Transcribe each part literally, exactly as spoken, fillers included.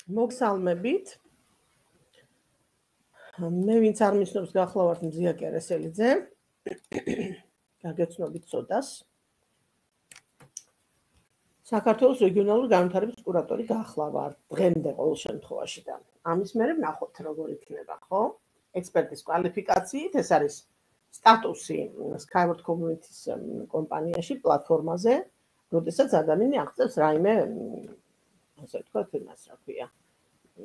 მოგესალმებით. მე ვინც არ მისნობს გახლავართ მზია კერესელიძე. გაგეცნობით ცოდას. საქართველოს რეგიონალური განვითარების კურატორი გახლავართ დღემდე ყოველ შემთხვევაში და ამის მერე ვნახოთ როგორ იქნება, ხო? ექსპერტის კვალიფიკაციით ეს არის სტატუსი Skyward Community-ის კომპანიაში, პლატფორმაზე, როდესაც ადამიანი აღწევს რაიმე, ასე ვთქვათ, იმას რა ქვია,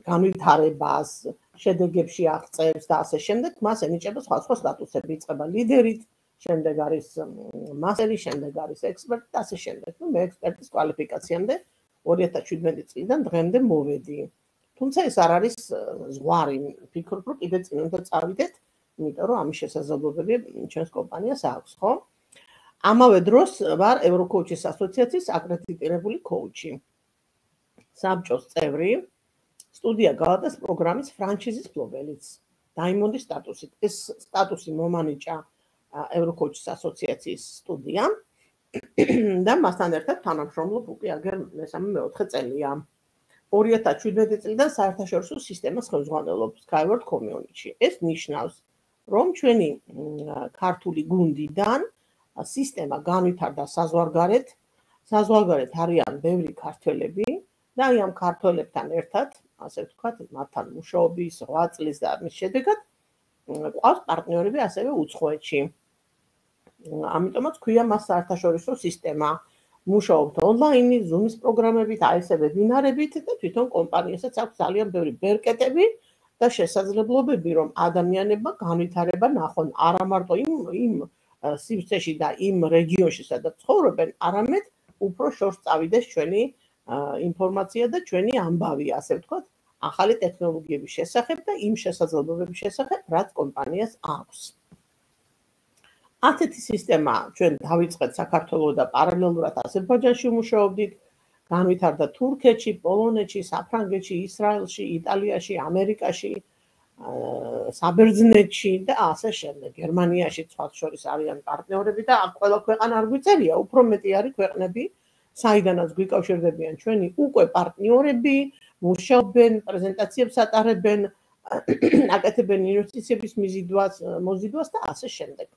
განვითარებას, შედეგებში აღწევს და ასე შემდეგ, მას ენიჭება სხვადასხვა სტატუსები, იწყება ლიდერით, შემდეგ არის მასტერი, შემდეგ არის ექსპერტი და ასე შემდეგ. ნუ მე ექსპერტის კვალიფიკაციამდე ორი ათას შვიდმეტი წლიდან დღემდე მოვედი. თუმცა ეს არ არის ზღვარი, ვფიქრობ, რომ კიდე წინ უნდა წავიდეთ, იმიტომ რომ ამის შესაძლებლობები ჩვენს კომპანიას აქვს, ხო? ამავე დროს ვარ ევროკოუჩის ასოციაციის აკრედიტირებული კოუჩი. საბჭოს წევრი, სტუდია გალატას პროგრამის ფრანჩიზის ფლობელიც, დაიმონდის სტატუსით. ეს სტატუსი მომანიჭა ევროკოუჩის ასოციაციის სტუდიამ და მასთან ერთად თანამშრომლობ უკვე აგერ მესამე მეოთხე წელია. ორი ათას შვიდმეტი წლიდან საერთაშორისო სისტემას ხელმძღვანელობ Skyward Community-ში. ეს ნიშნავს, რომ ჩვენი ქართული გუნდიდან სისტემა განვითარდა საზღვარგარეთ, საზღვარგარეთ არიან ბევრი ქართველები და აი ამ ქართველებთან ერთად, ასე ვთქვათ, მათთან მუშაობის რვა წლის და ამის შედეგად ყავს პარტნიორები ასევე უცხოეთში. ამიტომაც ქვია მას საერთაშორისო სისტემა. მუშაობთ ონლაინი, Zoom-ის პროგრამებით, აი ესე ვებინარებით და თვითონ კომპანიასაც აქვს ძალიან ბევრი ბერკეტები და შესაძლებლობები, რომ ადამიანებმა განვითარება ნახონ არა მარტო იმ იმ სივრცეში და იმ რეგიონში, სადაც ცხოვრობენ, არამედ უფრო შორს წავიდეს ჩვენი ინფორმაცია და ჩვენი ამბავი, ასე ვთქვათ, ახალი ტექნოლოგიების შესახებ და იმ შესაძლებლობების შესახებ, რაც კომპანიას აქვს. ასეთი სისტემა ჩვენ დავიწყეთ საქართველოს და პარალელურად აზერბაიჯანში ვმუშაობდით, განვითარდა თურქეთში, პოლონეთში, საფრანგეთში, ისრაელში, იტალიაში, ამერიკაში, საბერძნეთში და ასე შემდეგ. გერმანიაში სხვა შორის არიან პარტნიორები და აქ ყველა ქვეყანა არ გვიწერია, უფრო მეტი არის ქვეყნები, საიდანაც გვიკავშირდებიან ჩვენი უკვე პარტნიორები, მუშაობენ, პრეზენტაციებს ატარებენ, აკეთებენ ინვესტიციების მიზიდვას, მოზიდვას და ასე შემდეგ.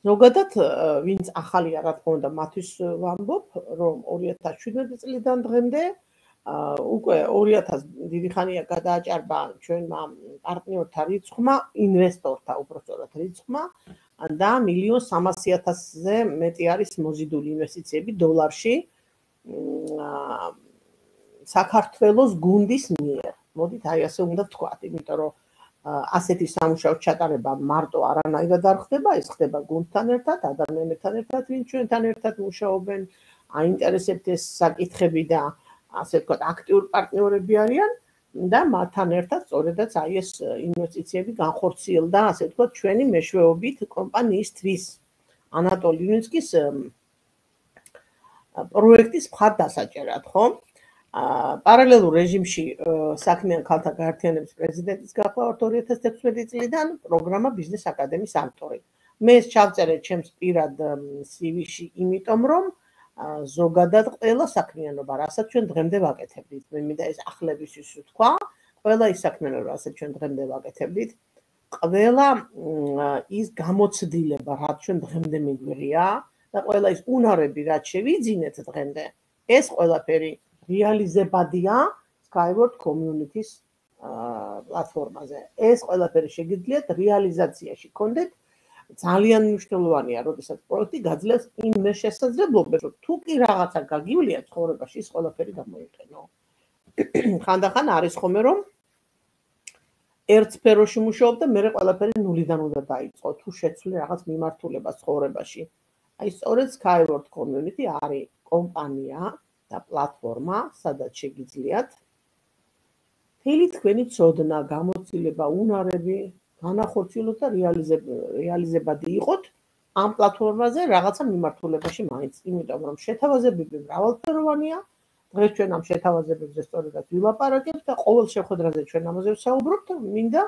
ზოგადად, ვინც ახალია, რა თქმა უნდა, მათთვის ვამბობ, რომ ორი ათას შვიდმეტი წლიდან დღემდე უკვე ორი ათას დიდი ხანია გადააჭარბა ჩვენმა პარტნიორთა რიცხვმა, ინვესტორთა უпростоრად რიცხვმა და მილიონ სამასი ათასზე მეტი არის მოზიდული ინვესტიციები დოლარში საქართველოს გუნდის მიერ. მოდით აი ასე უნდა ვთქვათ, იმიტომ რომ ასეთი სამუშაო ჩატარება მარტო არანაირად არ ხდება, ეს ხდება გუნდთან ერთად, ადამიანებთან ერთად, ვინც ჩვენთან ერთად მუშაობენ, აინტერესებთ ეს საკითხები და ასე ვთქვათ, აქტიურ პარტნიორები არიან და მათთან ერთად სწორედაც აი ეს ინვესტიციები განხორციელდა, ასე ვთქვათ, ჩვენი მეშვეობით კომპანიისთვის. ანატოლი ილინსკის პროექტის მხარდასაჭერად, ხო? პარალელურ რეჟიმში საქმიან ქალთა გაერთიანების პრეზიდენტის გახლავართ ორი ათას ექვსმეტი წლიდან პროგრამა ბიზნეს აკადემიის ავტორი. მე ეს ჩავწერე ჩემს პირად სი ვი-ში, იმიტომ რომ ზოგადად ყველა საქმიანობა, რასაც ჩვენ დღემდე ვაკეთებდით, მე მინდა ეს ახლებისთვის ვთქვა, ყველა ის საქმიანობა, რასაც ჩვენ დღემდე ვაკეთებდით, ყველა ის გამოცდილება, რაც ჩვენ დღემდე მიგვიღია და ყველა ის უნარები, რაც შევიძინეთ დღემდე, ეს ყველაფერი რეალიზებადია Skyward Community-ის პლატფორმაზე. ეს ყველაფერი შეგიძლიათ რეალიზაციაში გქონდეთ. ძალიან მნიშვნელოვანია, როდესაც პროექტი გაძლევს იმ შესაძლებლობებს, რომ თუ კი რაღაცა გაგივლია ცხოვრებაში, ის ყველაფერი გამოიყენო. ხანდახან არის ხოლმე, რომ ერთ სფეროში მუშაობ და მე ყველაფერი ნულიდან უნდა დაიწყო, თუ შეცვლი რაღაც მიმართულება ცხოვრებაში. აი სწორედ Skyward Community არის კომპანია და პლატფორმა, სადაც შეგიძლიათ მთელი თქვენი ცოდნა, გამოცდილება, უნარები განახორციელოთ და რეალიზებადი იყოთ ამ პლატფორმაზე რაღაცა მიმართულებაში მაინც, იმიტომ რომ შეთავაზებები მრავალფეროვანია. დღეს ჩვენ ამ შეთავაზებებზე სწორედაც ვილაპარაკებთ და ყოველ შეხვედრაზე ჩვენ ამაზე ვსაუბრობთ. მინდა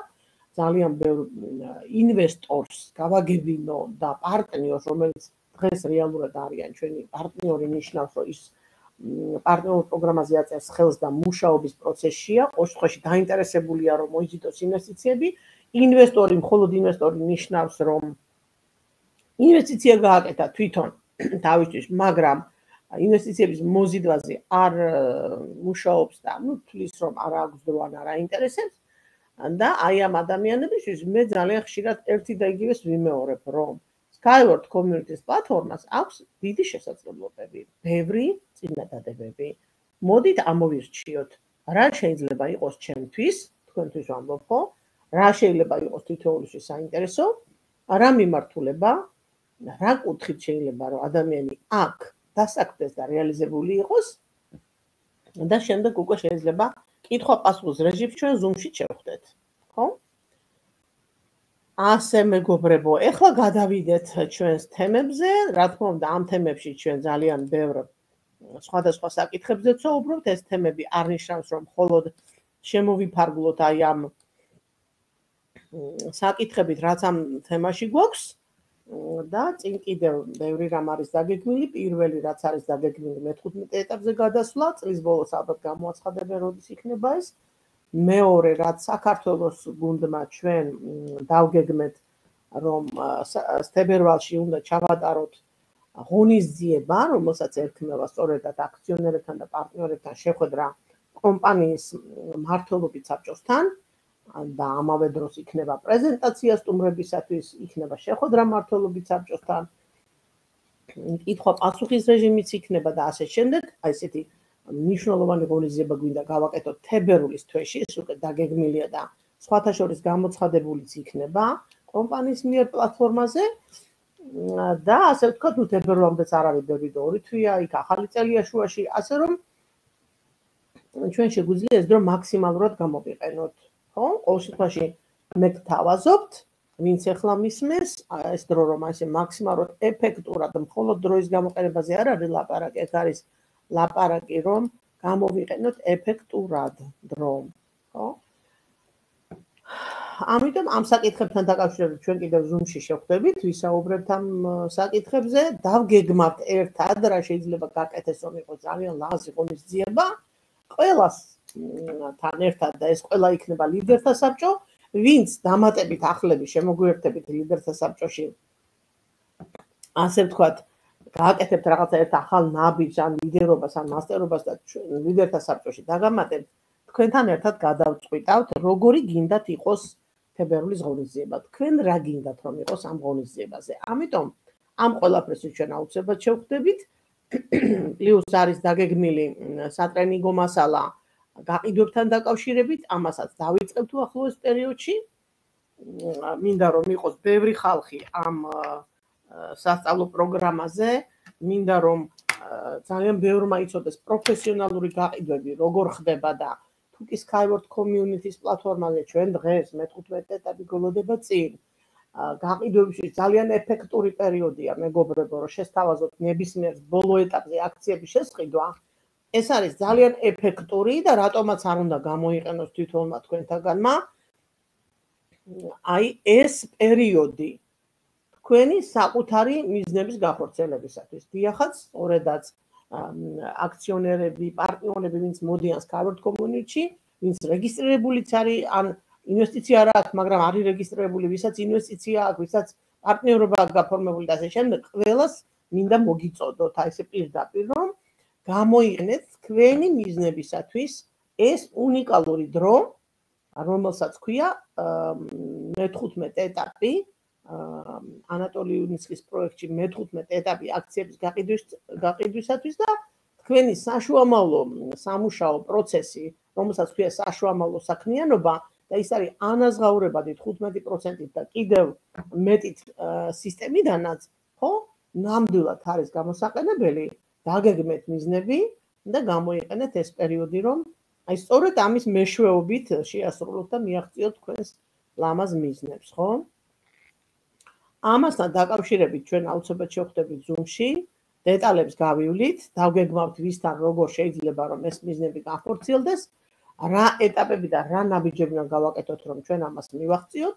ძალიან ბევრ ინვესტორს გავაგებინო და პარტნიორს, რომელიც დღეს რეალურად არიან ჩვენი პარტნიორი, ნიშნავს, რომ ის პარტნიორულ პროგრამაზე აწევს ხელს და მუშაობის პროცესშია, ყოველ შემთხვევაში დაინტერესებულია რომ მოიზიდოს ინვესტიციები, ინვესტორი მხოლოდ ინვესტორი ნიშნავს რომ ინვესტიცია გააკეთა თვითონ თავისთვის, მაგრამ ინვესტიციების მოზიდვაზე არ მუშაობს და ნუ თulis რომ არ აქვს დრო ან არ აინტერესებს და აი ამ ადამიანებისთვის მე ძალიან ხშირად ერთი და იგივეს ვიმეორებ რომ Skyward Communities პლატფორმას აქვს დიდი შესაძლებლობები, ბევრი წინადადებები. მოდით ამოვირჩიოთ, რა შეიძლება იყოს ჩემთვის, თქვენთვის ვამბობ ხო, რა შეიძლება იყოს თითოეულისთვის საინტერესო, რა მიმართულება, რა კუთხით შეიძლება რომ ადამიანი აქ დასაქმდეს და რეალიზებული იყოს და შემდეგ უკვე შეიძლება კითხვა-პასუხის რეჟიმში ჩვენ Zoom-ში შევხვდეთ, ხო? ასე მეგობრებო, ეხლა გადავიდეთ ჩვენს თემებზე, რა თქმა უნდა, ამ თემებში ჩვენ ძალიან ბევრ სხვადასხვა საკითხებზე ვცხოვრობთ, ეს თემები არ ნიშნავს რომ მხოლოდ შემოვიფარგლოთ აი ამ საკითხებით, რაც ამ თემაში გვაქვს და წინ კიდევ ბევრი რამ არის დაგეგმილი, პირველი რაც არის დაგეგმილი მეთერთმეტე ეტაპზე გადასვლა, წლის ბოლოს ალბათ გამოაცხადებენ როდის იქნება ეს. მეორე რაც საქართველოს გუნდმა ჩვენ დავგეგმეთ რომ თებერვალში უნდა ჩავატაროთ ღონისძიება, რომელსაც ერქმევა სწორედად აქციონერებთან და პარტნიორებთან შეხვედრა კომპანიის მმართველობით საბჭოსთან და ამავე დროს იქნება პრეზენტაცია სტუმრებისათვის, იქნება შეხვედრა მმართველობით საბჭოსთან, კითხვა-პასუხის რეჟიმიც იქნება და ასე შემდეგ, აი ესეთი მნიშვნელოვანი ღონისძიება გვინდა გავაკეთოთ თებერვლის თვეში, ეს უკვე დაგეგმილია და სხვათა შორის გამოცხადებულიც იქნება კომპანიის მიერ პლატფორმაზე და ასე ვთქვათ, ნუ თებერვლამდეც არ არის ბევრი და ორი თვეა, იქ ახალი წელია შუაში, ასე რომ ჩვენ შეგვიძლია ეს დრო მაქსიმალურად გამოვიყენოთ, ხო? ყოველ შემთხვევაში მე გთავაზობთ, ვინც ახლა მისმენს, ეს დრო რომ ასე მაქსიმალურად ეფექტურად მხოლოდ დროის გამოყენებაზე არ არის ლაპარაკი, ეს არის ლაპარაკი რომ გამოვიყენოთ ეფექტურად დრო, ხო? ამიტომ ამ საკითხებთან დაკავშირებით ჩვენ კიდევ Zoom-ში შევხვდებით, ვისაუბრებთ ამ საკითხებზე, დავგეგმავთ ერთად რა შეიძლება გაკეთდეს რომ იყოს ძალიან ლაზი ღონისძიება, ყველას თან ერთად და ეს ყველა იქნება ლიდერთა საბჭო, ვინც დამატებით ახლები შემოგვიერთებით ლიდერთა საბჭოში. ასე ვთქვათ, გააკეთებთ რაღაცა ერთ ახალ ნაბიჯს ან ლიდერობას ან მასტერობას და ლიდერთა საბჭოში დაგამატებთ, თქვენთან ერთად გადავწყვიტავთ, როგორი გინდათ იყოს თებერვლის ღონისძიება. თქვენ რა გინდათ რომ იყოს ამ ღონისძიებაზე. ამიტომ ამ ყველაფერს ჩვენ აუცილებლად შევხვდებით. პლუს არის დაგეგმილი სატრენინგო მასალა გაყიდვებთან დაკავშირებით, ამასაც დავიწყებთ უახლოეს პერიოდში. მინდა რომ იყოს ბევრი ხალხი ამ სასწავლო პროგრამაზე, მინდა რომ ძალიან ბევრმა იცოდეს პროფესიონალური გაყიდვები, როგორ ხდება და თუ კი Skyward Communities პლატფორმაზე ჩვენ დღეს მეთერთმეტე ეტაპი გველოდება წინ. გაყიდვებში ძალიან ეფექტური პერიოდია, მეგობრებო, რომ შესთავაზოთ ნებისმიერ ბოლო ეტაპზე აქციების შესყიდვა. ეს არის ძალიან ეფექტური და რატომაც არ უნდა გამოიყენოს თვითონმა თქვენთაგანმა. აი ეს პერიოდი თქვენი საკუთარი მიზნების განხორციელებისათვის. დიახაც, სწორედაც აქციონერები, პარტნიორები, ვინც მოდიან Skyward Community-ში, ვინც რეგისტრირებულიც არის, ან ინვესტიცია არ აქვს, მაგრამ არის რეგისტრირებული, ვისაც ინვესტიცია აქვს, ვისაც პარტნიორობა აქვს გაფორმებული და ასე შემდეგ, ყველას მინდა მოგიწოდოთ, აი ესე პირდაპირ, რომ გამოიყენეთ თქვენი მიზნებისათვის ეს უნიკალური დრო, რომელსაც ქვია მეთერთმეტე ეტაპი, ანატოლი იუნისკის პროექტში მეთერთმეტე ეტაპი აქციების გაყიდვისათვის და თქვენი საშუამავლო სამუშაო პროცესი, რომელსაც ქვია საშუამავლო საქმიანობა და ის არის ანაზღაურებადი თხუთმეტი პროცენტით და კიდევ მეტით სისტემიდანაც, ხო? ნამდვილად არის გამოსაყენებელი, დაგეგმეთ მიზნები და გამოიყენეთ ეს პერიოდი, რომ აი სწორედ ამის მეშვეობით შეასრულოთ და მიაღწიოთ თქვენს ლამაზ მიზნებს, ხო? ამასთან დაკავშირებით ჩვენ აუცილებლად შევხვდებით Zoom-ში, დეტალებს გავივლით, დავგეგმავთ ვისთან როგორ შეიძლება რომ ეს მიზნები განხორციელდეს, რა ეტაპები და რა ნაბიჯები უნდა გავაკეთოთ რომ ჩვენ ამას მივაღწიოთ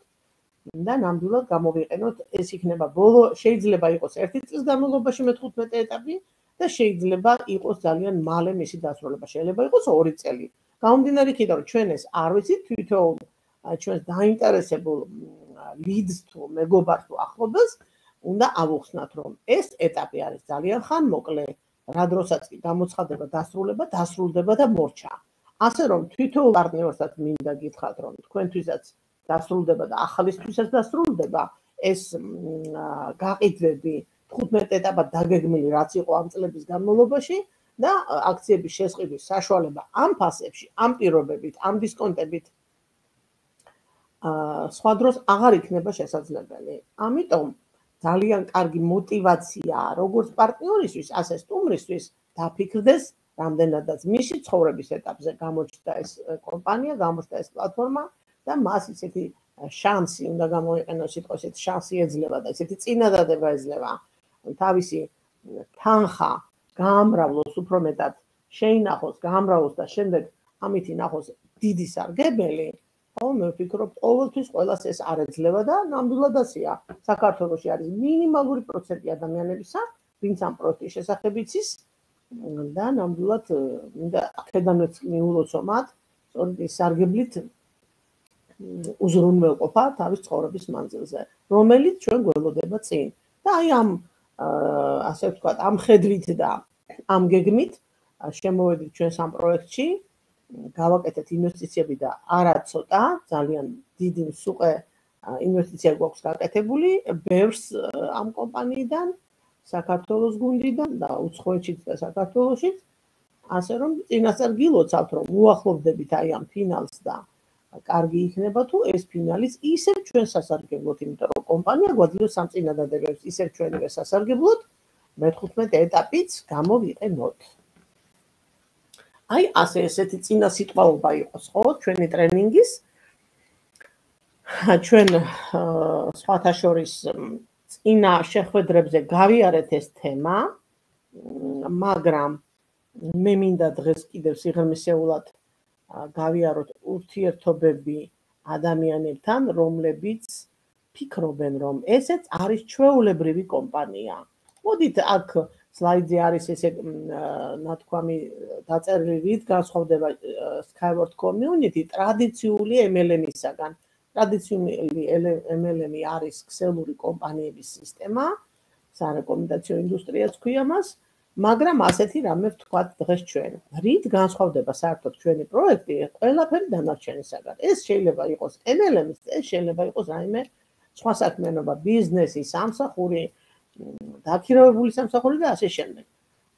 და ნამდვილად გამოვიყენოთ, ეს იქნება ბოლო, შეიძლება იყოს ერთი წლის განმავლობაში მეთერთმეტე ეტაპი, და შეიძლება იყოს ძალიან მალე მისი დასრულება. შეიძლება იყოს ორი წელი. გამომდინარე იქიდან, რომ ჩვენ ეს არ ვიცით თვითონ ჩვენს დაინტერესებულ ლიდს თუ მეგობარს თუ ახლობელს უნდა ავუხსნათ, რომ ეს ეტაპი არის ძალიან ხანმოკლე, რა დროსაც კი გამოცხადება დასრულება, დასრულდება და მორჩა. ასე რომ თვითონ პარტნიორსაც მინდა გითხრათ, რომ თქვენთვისაც დასრულდება და ახალისთვისაც დასრულდება, ეს გაყიდვები თხუთმეტ ეტაპად დაგეგმილი რაც იყო ამ წლების განმავლობაში და აქციების შესყიდვის საშუალება ამ ფასებში, ამ პირობებით, ამ დისკონტებით სხვა დროს აღარ იქნება შესაძლებელი. ამიტომ ძალიან კარგი мотиваციაა როგორც პარტნიორისთვის, ასე სტუმრისთვის დაფიქრდეს რამდენადაც მისი ცხოვრების ეტაპზე გამოჩნდა ეს კომპანია, გამოჩნდა ეს პლატფორმა და მას ისეთი შანსი უნდა გამოიყენოს, სიტყვა ესეთი შანსი ეძლევა და ესეთი წინადადება ეძლევა თავისი თანხა გაამრავლოს უფრო მეტად შეინახოს, გაამრავლოს და შემდეგ ამით ინახოს დიდი სარგებელი. ხო, მე ვფიქრობ, ყოველთვის ყველას ეს არ ეძლევა და ნამდვილად ასეა. საქართველოში არის მინიმალური პროცენტი ადამიანებისა, ვინც ამ პროექტის შესახებ იცის და ნამდვილად მინდა აქედანაც მიულოცო მათ, სწორედ ის სარგებლით უზრუნველყოფა თავის ცხოვრების მანძილზე, რომელიც ჩვენ გველოდება წინ. და აი ამ ასე ვთქვათ, ამ ხედვით და ამ გეგმით შემოვედით ჩვენ სამ პროექტში, გავაკეთეთ ინვესტიციები და არა ცოტა, ძალიან დიდი მსუყე ინვესტიცია გვაქვს გაკეთებული, ბევრს ამ კომპანიიდან, საქართველოს გუნდიდან და უცხოეთშიც და საქართველოშიც, ასე რომ წინასწარ გილოცავთ, რომ უახლოვდებით აი ამ ფინალს და კარგი იქნება თუ ეს ფინალის ისევ ჩვენ სასარგებლოთ, იმიტომ რომ კომპანია გვაძლევს ამ წინადადებებს, ისევ ჩვენივე სასარგებლოთ, მეთხუთმეტ ეტაპიც გამოვიყენოთ. აი ასე ესეთი წინა სიტყვაობა იყოს, ხო, ჩვენი ტრენინგის. ჩვენ სხვათა შორის წინა შეხვედრებზე გავიარეთ ეს თემა, მაგრამ მე მინდა დღეს კიდევ სიღრმისეულად გავიაროთ ურთიერთობები ადამიანებთან, რომლებიც ფიქრობენ, რომ ესეც არის ჩვეულებრივი კომპანია. მოდით აქ სლაიდზე არის ესე ნათქვამი დაწერილი, რით განსხვავდება Skyward Community ტრადიციული ემ ელ ემისაგან. ტრადიციული ემ ელ ემი არის ქსელური კომპანიების სისტემა, სარეკომენდაციო ინდუსტრიაც ქვია მას, მაგრამ ასეთი რამე ვთქვათ დღეს ჩვენ. რით განსხვავდება საერთოდ ჩვენი პროექტი ყველაფერი დანარჩენისაგან. ეს შეიძლება იყოს ემ ელ ემის, ეს შეიძლება იყოს რაიმე სხვა საქმიანობა, ბიზნესი, სამსახური, დაქირავებული სამსახური და ასე შემდეგ.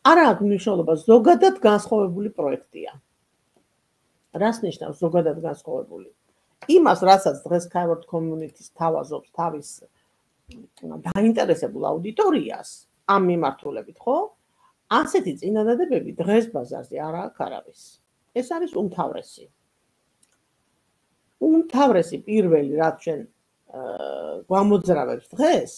არა აქვს მნიშვნელობა, ზოგადად განსხვავებული პროექტია. რას ნიშნავს ზოგადად განსხვავებული? იმას, რასაც დღეს Skyward Community-ს თავაზობს თავის დაინტერესებულ აუდიტორიას ამ მიმართულებით, ხო? ასეთი წინადადებები დღეს ბაზარზე არ აქვს არავის. ეს არის უმთავრესი. უმთავრესი პირველი, რაც ჩვენ გვამოძრავებს დღეს,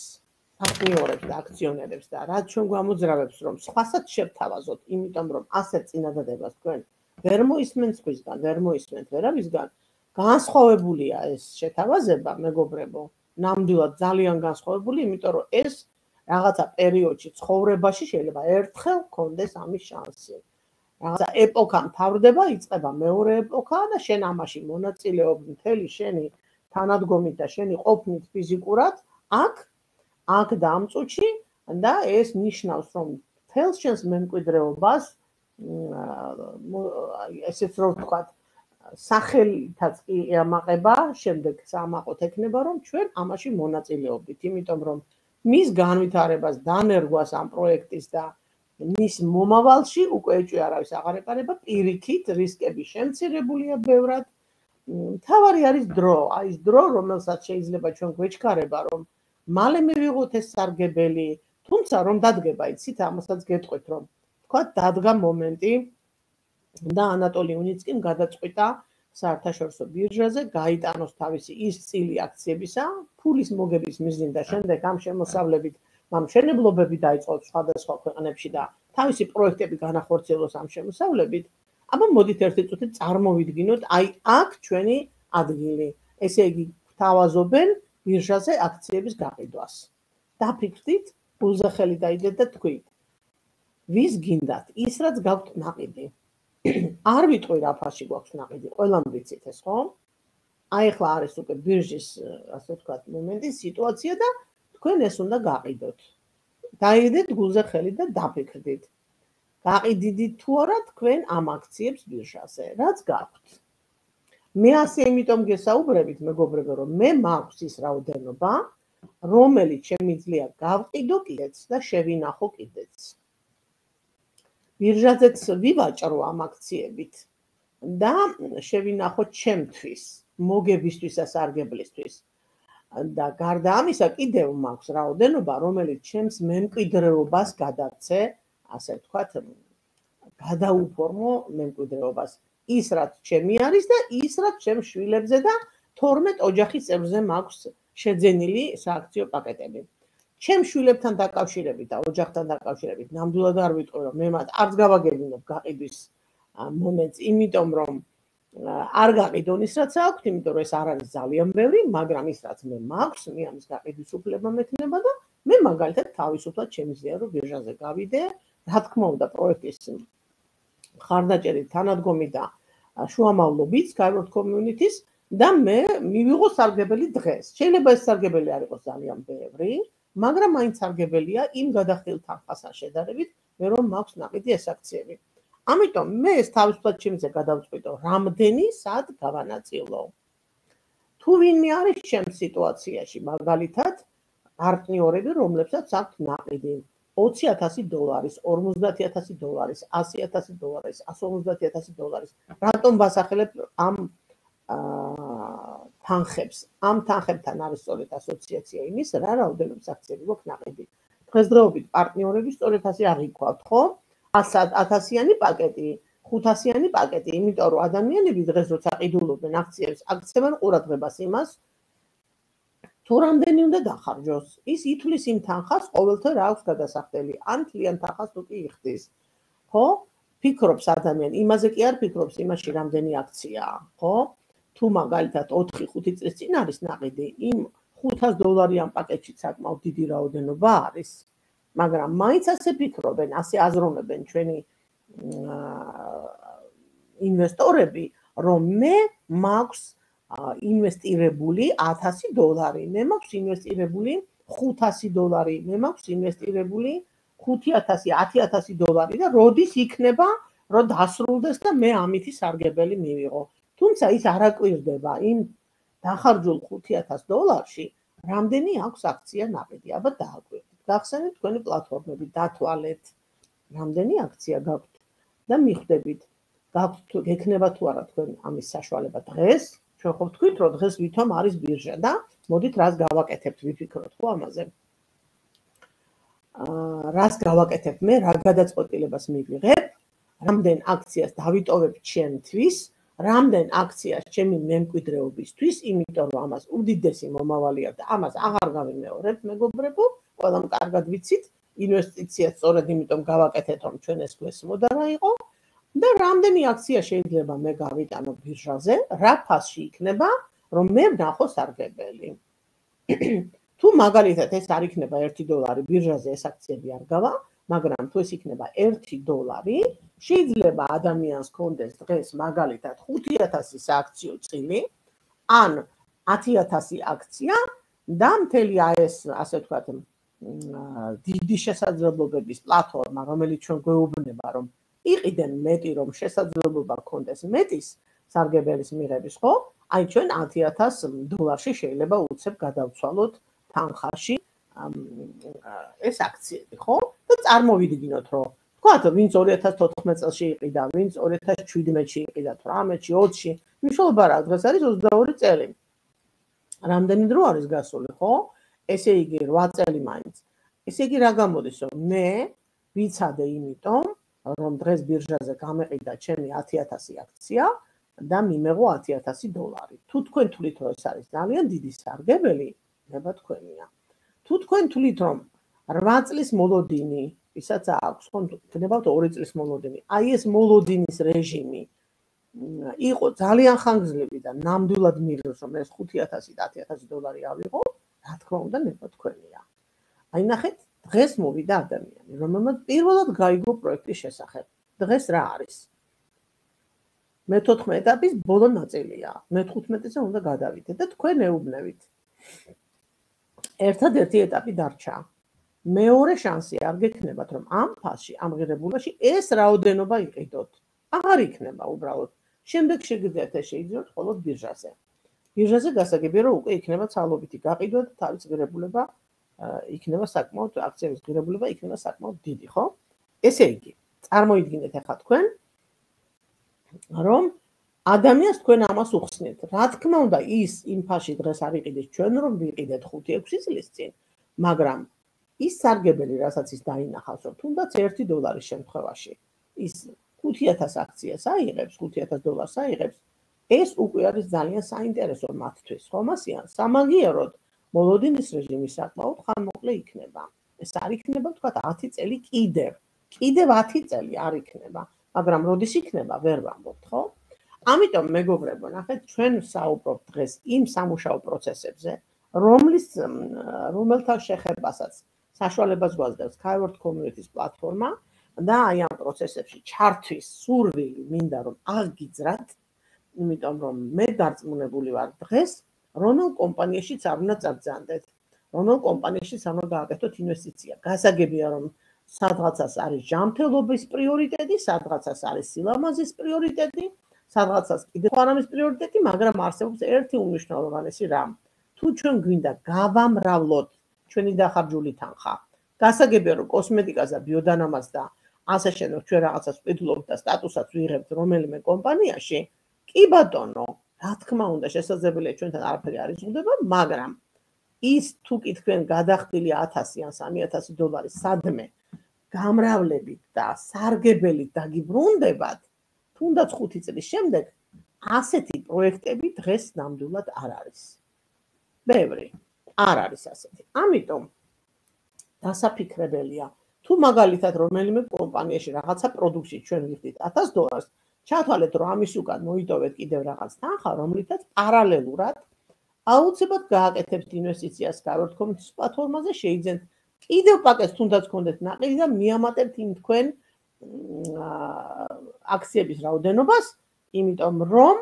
პარტნიორებს და აქციონერებს და რაც ჩვენ გვამოძრავებს, რომ სხვასაც შევთავაზოთ, იმიტომ რომ ასეთ წინადადებას თქვენ ვერ მოისმენთ სხვისგან, ვერ მოისმენთ ვერავისგან, განსხვავებულია ეს შეთავაზება, მეგობრებო, ნამდვილად ძალიან განსხვავებული, იმიტომ რომ ეს რაღაცა პერიოდში ცხოვრებაში შეიძლება ერთხელ გქონდეს ამის შანსი. რაღაცა ეპოქა მთავრდება, იწყება მეორე ეპოქა და შენ ამაში მონაწილეობ მთელი შენი თანადგომით და შენი ყოფნით ფიზიკურად აქ, აქ და ამ წუთში და ეს ნიშნავს, რომ მთელ შენს მემკვიდრეობას ესეც რომ ვთქვათ, სახელითაც კი ემაყება, შემდეგ სამაყოთ ექნება, რომ ჩვენ ამაში მონაწილეობდით, იმიტომ რომ მის განვითარებას, დანერგვას ამ პროექტის და მის მომავალში უკვე ეჭვი არავის აღარ ეყარება, პირიქით რისკები შემცირებულია ბევრად. მთავარი არის დრო, აი ეს დრო, რომელსაც შეიძლება ჩვენ გვეჩქარება, რომ მალე მივიღოთ ეს სარგებელი, თუმცა რომ დადგება, იცით, ამასაც გეტყვით, რომ თქვა დადგა მომენტი და ანატოლი უნიცკიმ გადაწყვიტა საერთაშორისო ბირჟაზე გაიტანოს თავისი ის წილი აქციებისა, ფულის მოგების მიზნით და შემდეგ ამ შემოსავლებით მშენებლობები დაიწყო სხვადასხვა ქვეყნებში და თავისი პროექტები განახორციელოს ამ შემოსავლებით, აბა მოდით ერთი წუთი წარმოვიდგინოთ, აი აქ ჩვენი ადგილი. ესე იგი, გვთავაზობენ ბირჟაზე აქციების გაყიდვას. დაფიქრდით, გულზე ხელი დაიდეთ და თქვით. ვის გინდათ ის რაც გაქვთ ნაყიდი. არ ვიტყვი რა ფასში გვაქვს ნაყიდი, ყველამ ვიცით ეს, ხო? აი ახლა არის უკვე ბირჟის, ასე ვთქვათ, მომენტი, სიტუაცია და თქვენ ეს უნდა გაყიდოთ. დაიდეთ გულზე ხელი და დაფიქრდით. გაყიდიდით თუ არა თქვენ ამ აქციებს ბირჟაზე, რაც გაქვთ. მე ასე იმიტომ გესაუბრებით, მეგობრებო, რომ მე მაქვს ის რაოდენობა, რომელიც შემიძლია გავყიდო კიდეც და შევინახო კიდეც. ბირჟაზეც ვივაჭრო ამ აქციებით და შევინახო ჩემთვის, მოგებისთვის და სარგებლისთვის. და გარდა ამისა კიდევ მაქვს რაოდენობა, რომელიც ჩემს მემკვიდრეობას გადაცე, ასე ვთქვათ, გადაუფორმო მემკვიდრეობას. ის რაც ჩემი არის და ის რაც ჩემს შვილებზე და თორმეტ ოჯახის წევრზე მაქვს შეძენილი სააქციო პაკეტები. ჩემს შვილებთან დაკავშირებით და ოჯახთან დაკავშირებით ნამდვილად არ ვიტყვი, რომ მე მათ არც გავაგებინებ გაყიდვის მომენტს, იმიტომ რომ არ გაყიდონ ის რაც აქვთ, იმიტომ რომ ეს არ არის ძალიან ბევრი, მაგრამ ის რაც მე მაქვს, მე ამის გაყიდვის უფლება მექნება და მე მაგალითად თავისუფლად შემიძლია რომ ბირჟაზე გავიდე, რა თქმა უნდა პროექტის მხარდაჭერით თანადგომი და შუამავლობით Skyward Community-ს და მე მივიღო სარგებელი დღეს. შეიძლება ეს სარგებელი არ იყოს ძალიან ბევრი, მაგრამ მაინც სარგებელია იმ გადახდილ თანხასთან შედარებით, მე რომ მაქვს ნაყიდი ეს აქციები. ამიტომ მე ეს თავისუფლად შემიძლია გადავწყვიტო, რამდენი სად გავანაწილო. თუ ვინმე არის ჩემს სიტუაციაში, მაგალითად, პარტნიორები, რომლებსაც აქვთ ნაყიდი ოცი ათასი დოლარის, ორმოცდაათი ათასი დოლარის, ასი ათასი დოლარის, ასი ორმოცდაათი ათასი დოლარის. რატომ ვასახელებ ამ თანხებს? ამ თანხებთან არის სწორედ ასოციაცია იმის, რა რაოდენობის აქციები გვაქვს ნაყიდი. დღესდღეობით პარტნიორები სწორედ ასე აღიქვათ, ხო? ათასიანი პაკეტი, ხუთასიანი პაკეტი, იმიტომ რომ ადამიანები დღეს როცა ყიდულობენ აქციებს, აქცევენ ყურადღებას იმას, თუ რამდენი უნდა დახარჯოს. ის ითვლის იმ თანხას, ყოველთვე რა აქვს გადასახდელი, ან თლიან თანხას თუ კი იხდის. ხო? ფიქრობს ადამიანი, იმაზე კი არ ფიქრობს, იმაში რამდენი აქციაა, ხო? თუ მაგალითად ოთხი ხუთი წლის წინ არის ნაყიდი, იმ ხუთას დოლარიან პაკეტში საკმაოდ დიდი რაოდენობა არის. მაგრამ მაინც ასე ფიქრობენ, ასე აზროვნებენ ჩვენი ინვესტორები, რომ მე მაქვს ინვესტირებული ათასი დოლარი, მე მაქვს ინვესტირებული ხუთასი დოლარი, მე მაქვს ინვესტირებული ხუთი ათასი, ათი ათასი დოლარი და როდის იქნება, რომ დასრულდეს და მე ამითი სარგებელი მივიღო. თუმცა ის არ აკვირდება იმ დახარჯულ ხუთი ათას დოლარში, რამდენი აქვს აქცია ნაყიდი, აბა დააკვირდით. გახსენეთ თქვენი პლატფორმები, დათვალეთ, რამდენი აქცია გაქვთ და მიხვდებით, გაქვთ გექნება თუ არა თქვენ ამის საშუალება დღეს. ჩვენ ხო ვთქვით, რომ დღეს ვითომ არის ბირჟა და მოდით რას გავაკეთებთ, ვიფიქროთ ხო ამაზე. აა რას გავაკეთებ მე, რა გადაწყვეტილებას მივიღებ, რამდენ აქციას დავიტოვებ ჩემთვის, რამდენ აქციას ჩემი მემკვიდრეობისთვის, იმიტომ რომ ამას უდიდესი მომავალი აქვს და ამას აღარ გავიმეორებთ, მეგობრებო, ყველამ კარგად ვიცით, ინვესტიცია სწორედ იმიტომ გავაკეთეთ, რომ ჩვენ ეს გვესმოდა რა იყო და რამდენი აქცია შეიძლება მე გავიტანო ბირჟაზე, რა ფასში იქნება, რომ მე ვნახო სარგებელი. თუ მაგალითად ეს არ იქნება ერთი დოლარი ბირჟაზე ეს აქციები არ გავა, მაგრამ თუ ეს იქნება ერთი დოლარი, შეიძლება ადამიანს კონდეს დღეს მაგალითად ხუთი ათასი სააქციო წილი, ან ათი ათასი აქცია და მთელი ეს, ასე ვთქვათ, დიდი შესაძლებლობების პლატფორმა, რომელიც ჩვენ გვეუბნება, რომ იყიდენ მეტი, რომ შესაძლებლობა გქონდეს მეტის სარგებელის მიღების, ხო? აი ჩვენ ათი ათას დოლარში შეიძლება უცებ გადავცვალოთ თანხაში ეს აქციები, ხო? და წარმოვიდგინოთ, რომ თქვათ, ვინც ორი ათას თოთხმეტ წელში იყიდა, ვინც ორი ათას შვიდმეტში იყიდა, თვრამეტში, ოცში, მნიშვნელობა რა, დღეს არის ოცდაორი წელი. რამდენი დრო არის გასული, ხო? ესე იგი რვა წელი მაინც. ესე იგი რა გამოდის, რომ მე ვიცადე იმიტომ, რომ დღეს ბირჟაზე გამეყიდა ჩემი ათი ათასი აქცია და მიმეღო ათი ათასი დოლარი. თუ თქვენ თვლით, რომ ეს არის ძალიან დიდი სარგებელი, ნება თქვენია. თუ თქვენ თვლით, რომ რვა წლის მოლოდინი, ისაც აქვს, ხო, გქნებავთ ორი წლის მოლოდინი. აი ეს მოლოდინის რეჟიმი იყო ძალიან ხანგრძლივი და ნამდვილად მიღებს, რომ ეს ხუთი ათასი და ათი ათასი დოლარი ავიღო, რა თქმა უნდა, ნება თქვენია. აი ნახეთ, დღეს მოვიდა ადამიანი, რომელმაც პირველად გაიგო პროექტის შესახებ. დღეს რა არის? მეთოთხმეტე ეტაპის ბოლო ნაწილია. მეთოთხმეტეზე უნდა გადავიდეთ და თქვენ ეუბნებით. ერთადერთი ეტაპი დარჩა. მეორე შანსი არ გექნებათ, რომ ამ ფასში, ამ ღირებულობაში ეს რაოდენობა იყიდოთ. აღარ იქნება უბრალოდ. შემდეგ შეგიძლიათ ეს შეიძინოთ მხოლოდ ბირჟაზე. ბირჟაზე გასაგებია, რომ უკვე იქნება ცალობითი გაყიდვა და თავის ღირებულება იქნება საკმაოდ აქციების ღირებულება იქნება საკმაოდ დიდი, ხო? ესე იგი, წარმოიდგინეთ ახლა თქვენ, რომ ადამიანს თქვენ ამას უხსნით. რა თქმა უნდა, ის იმ ფასში დღეს არ იყიდეს ჩვენ რომ ვიყიდეთ ხუთი ექვსი წლის წინ, მაგრამ ის სარგებელი, რასაც ის დაინახავს, რომ თუნდაც ერთი დოლარის შემთხვევაში ის ხუთი ათას აქციას აიღებს, ხუთი ათას დოლარს აიღებს, ეს უკვე არის ძალიან საინტერესო მათთვის, ხო მასიან? სამაგიეროდ მოლოდინის რეჟიმი საკმაოდ ხანმოკლე იქნება. ეს არ იქნება, თქვათ, ათი წელი კიდევ. კიდევ ათი წელი არ იქნება, მაგრამ როდის იქნება, ვერ ვამბობთ, ხო? ამიტომ მეგობრებო, ნახეთ, ჩვენ საუბრობთ დღეს იმ სამუშაო პროცესებზე, რომლის რომელთან შეხებასაც საშუალებას გვაძლევს Skyward Community-ს პლატფორმა და აი ამ პროცესებში ჩართვის სურვილი მინდა რომ აღგიძრათ, იმიტომ რომ მე დარწმუნებული ვარ დღეს, რომელ კომპანიაშიც არ უნდა წაბრძანდეთ, რომელ კომპანიაშიც არ უნდა გააკეთოთ ინვესტიცია. გასაგებია რომ სადღაცას არის ჯანმრთელობის პრიორიტეტი, სადღაცას არის სილამაზის პრიორიტეტი, სადღაცას კიდევ არამის პრიორიტეტი, მაგრამ არსებობს ერთი უმნიშვნელოვანესი რამ. თუ ჩვენ გვინდა გავამრავლოთ ჩვენი დახარჯული თანხა, გასაგებია რომ კოსმეტიკას და ბიოდანამატს და ასე შემდეგ ჩვენ რაღაცას ვფიქრობთ და სტატუსაც ვიღებთ რომელიმე კომპანიაში, კი ბატონო, რა თქმა უნდა შესაძლებელია ჩვენთან არაფერი არ იზღუდება, მაგრამ ის თუ კი თქვენ გადახდილი ათასი ან სამი ათასი დოლარი სადმე გამრავლებით და სარგებელით დაგიბრუნდებათ, თუნდაც ხუთი წლის შემდეგ ასეთი პროექტები დღეს ნამდვილად არ არის. ბევრი არ არის ასეთი. ამიტომ დასაფიქრებელია, თუ მაგალითად რომელიმე კომპანიაში რაღაცა პროდუქცია ჩვენ ვიხდით ათას დოლარს, ჩათვალეთ რომ ამის უკან მოიტოვეთ კიდევ რაღაც თანხა, რომლითაც პარალელურად აუცილებლად გააკეთებთ ინვესტიციას Skyward Community-ს პლატფორმაზე, შეიძენთ კიდევ პაკეტს თუნდაც გქონდეთ ნაყიდი და მიამატებთ იმ თქვენ აქციების რაოდენობას, იმიტომ რომ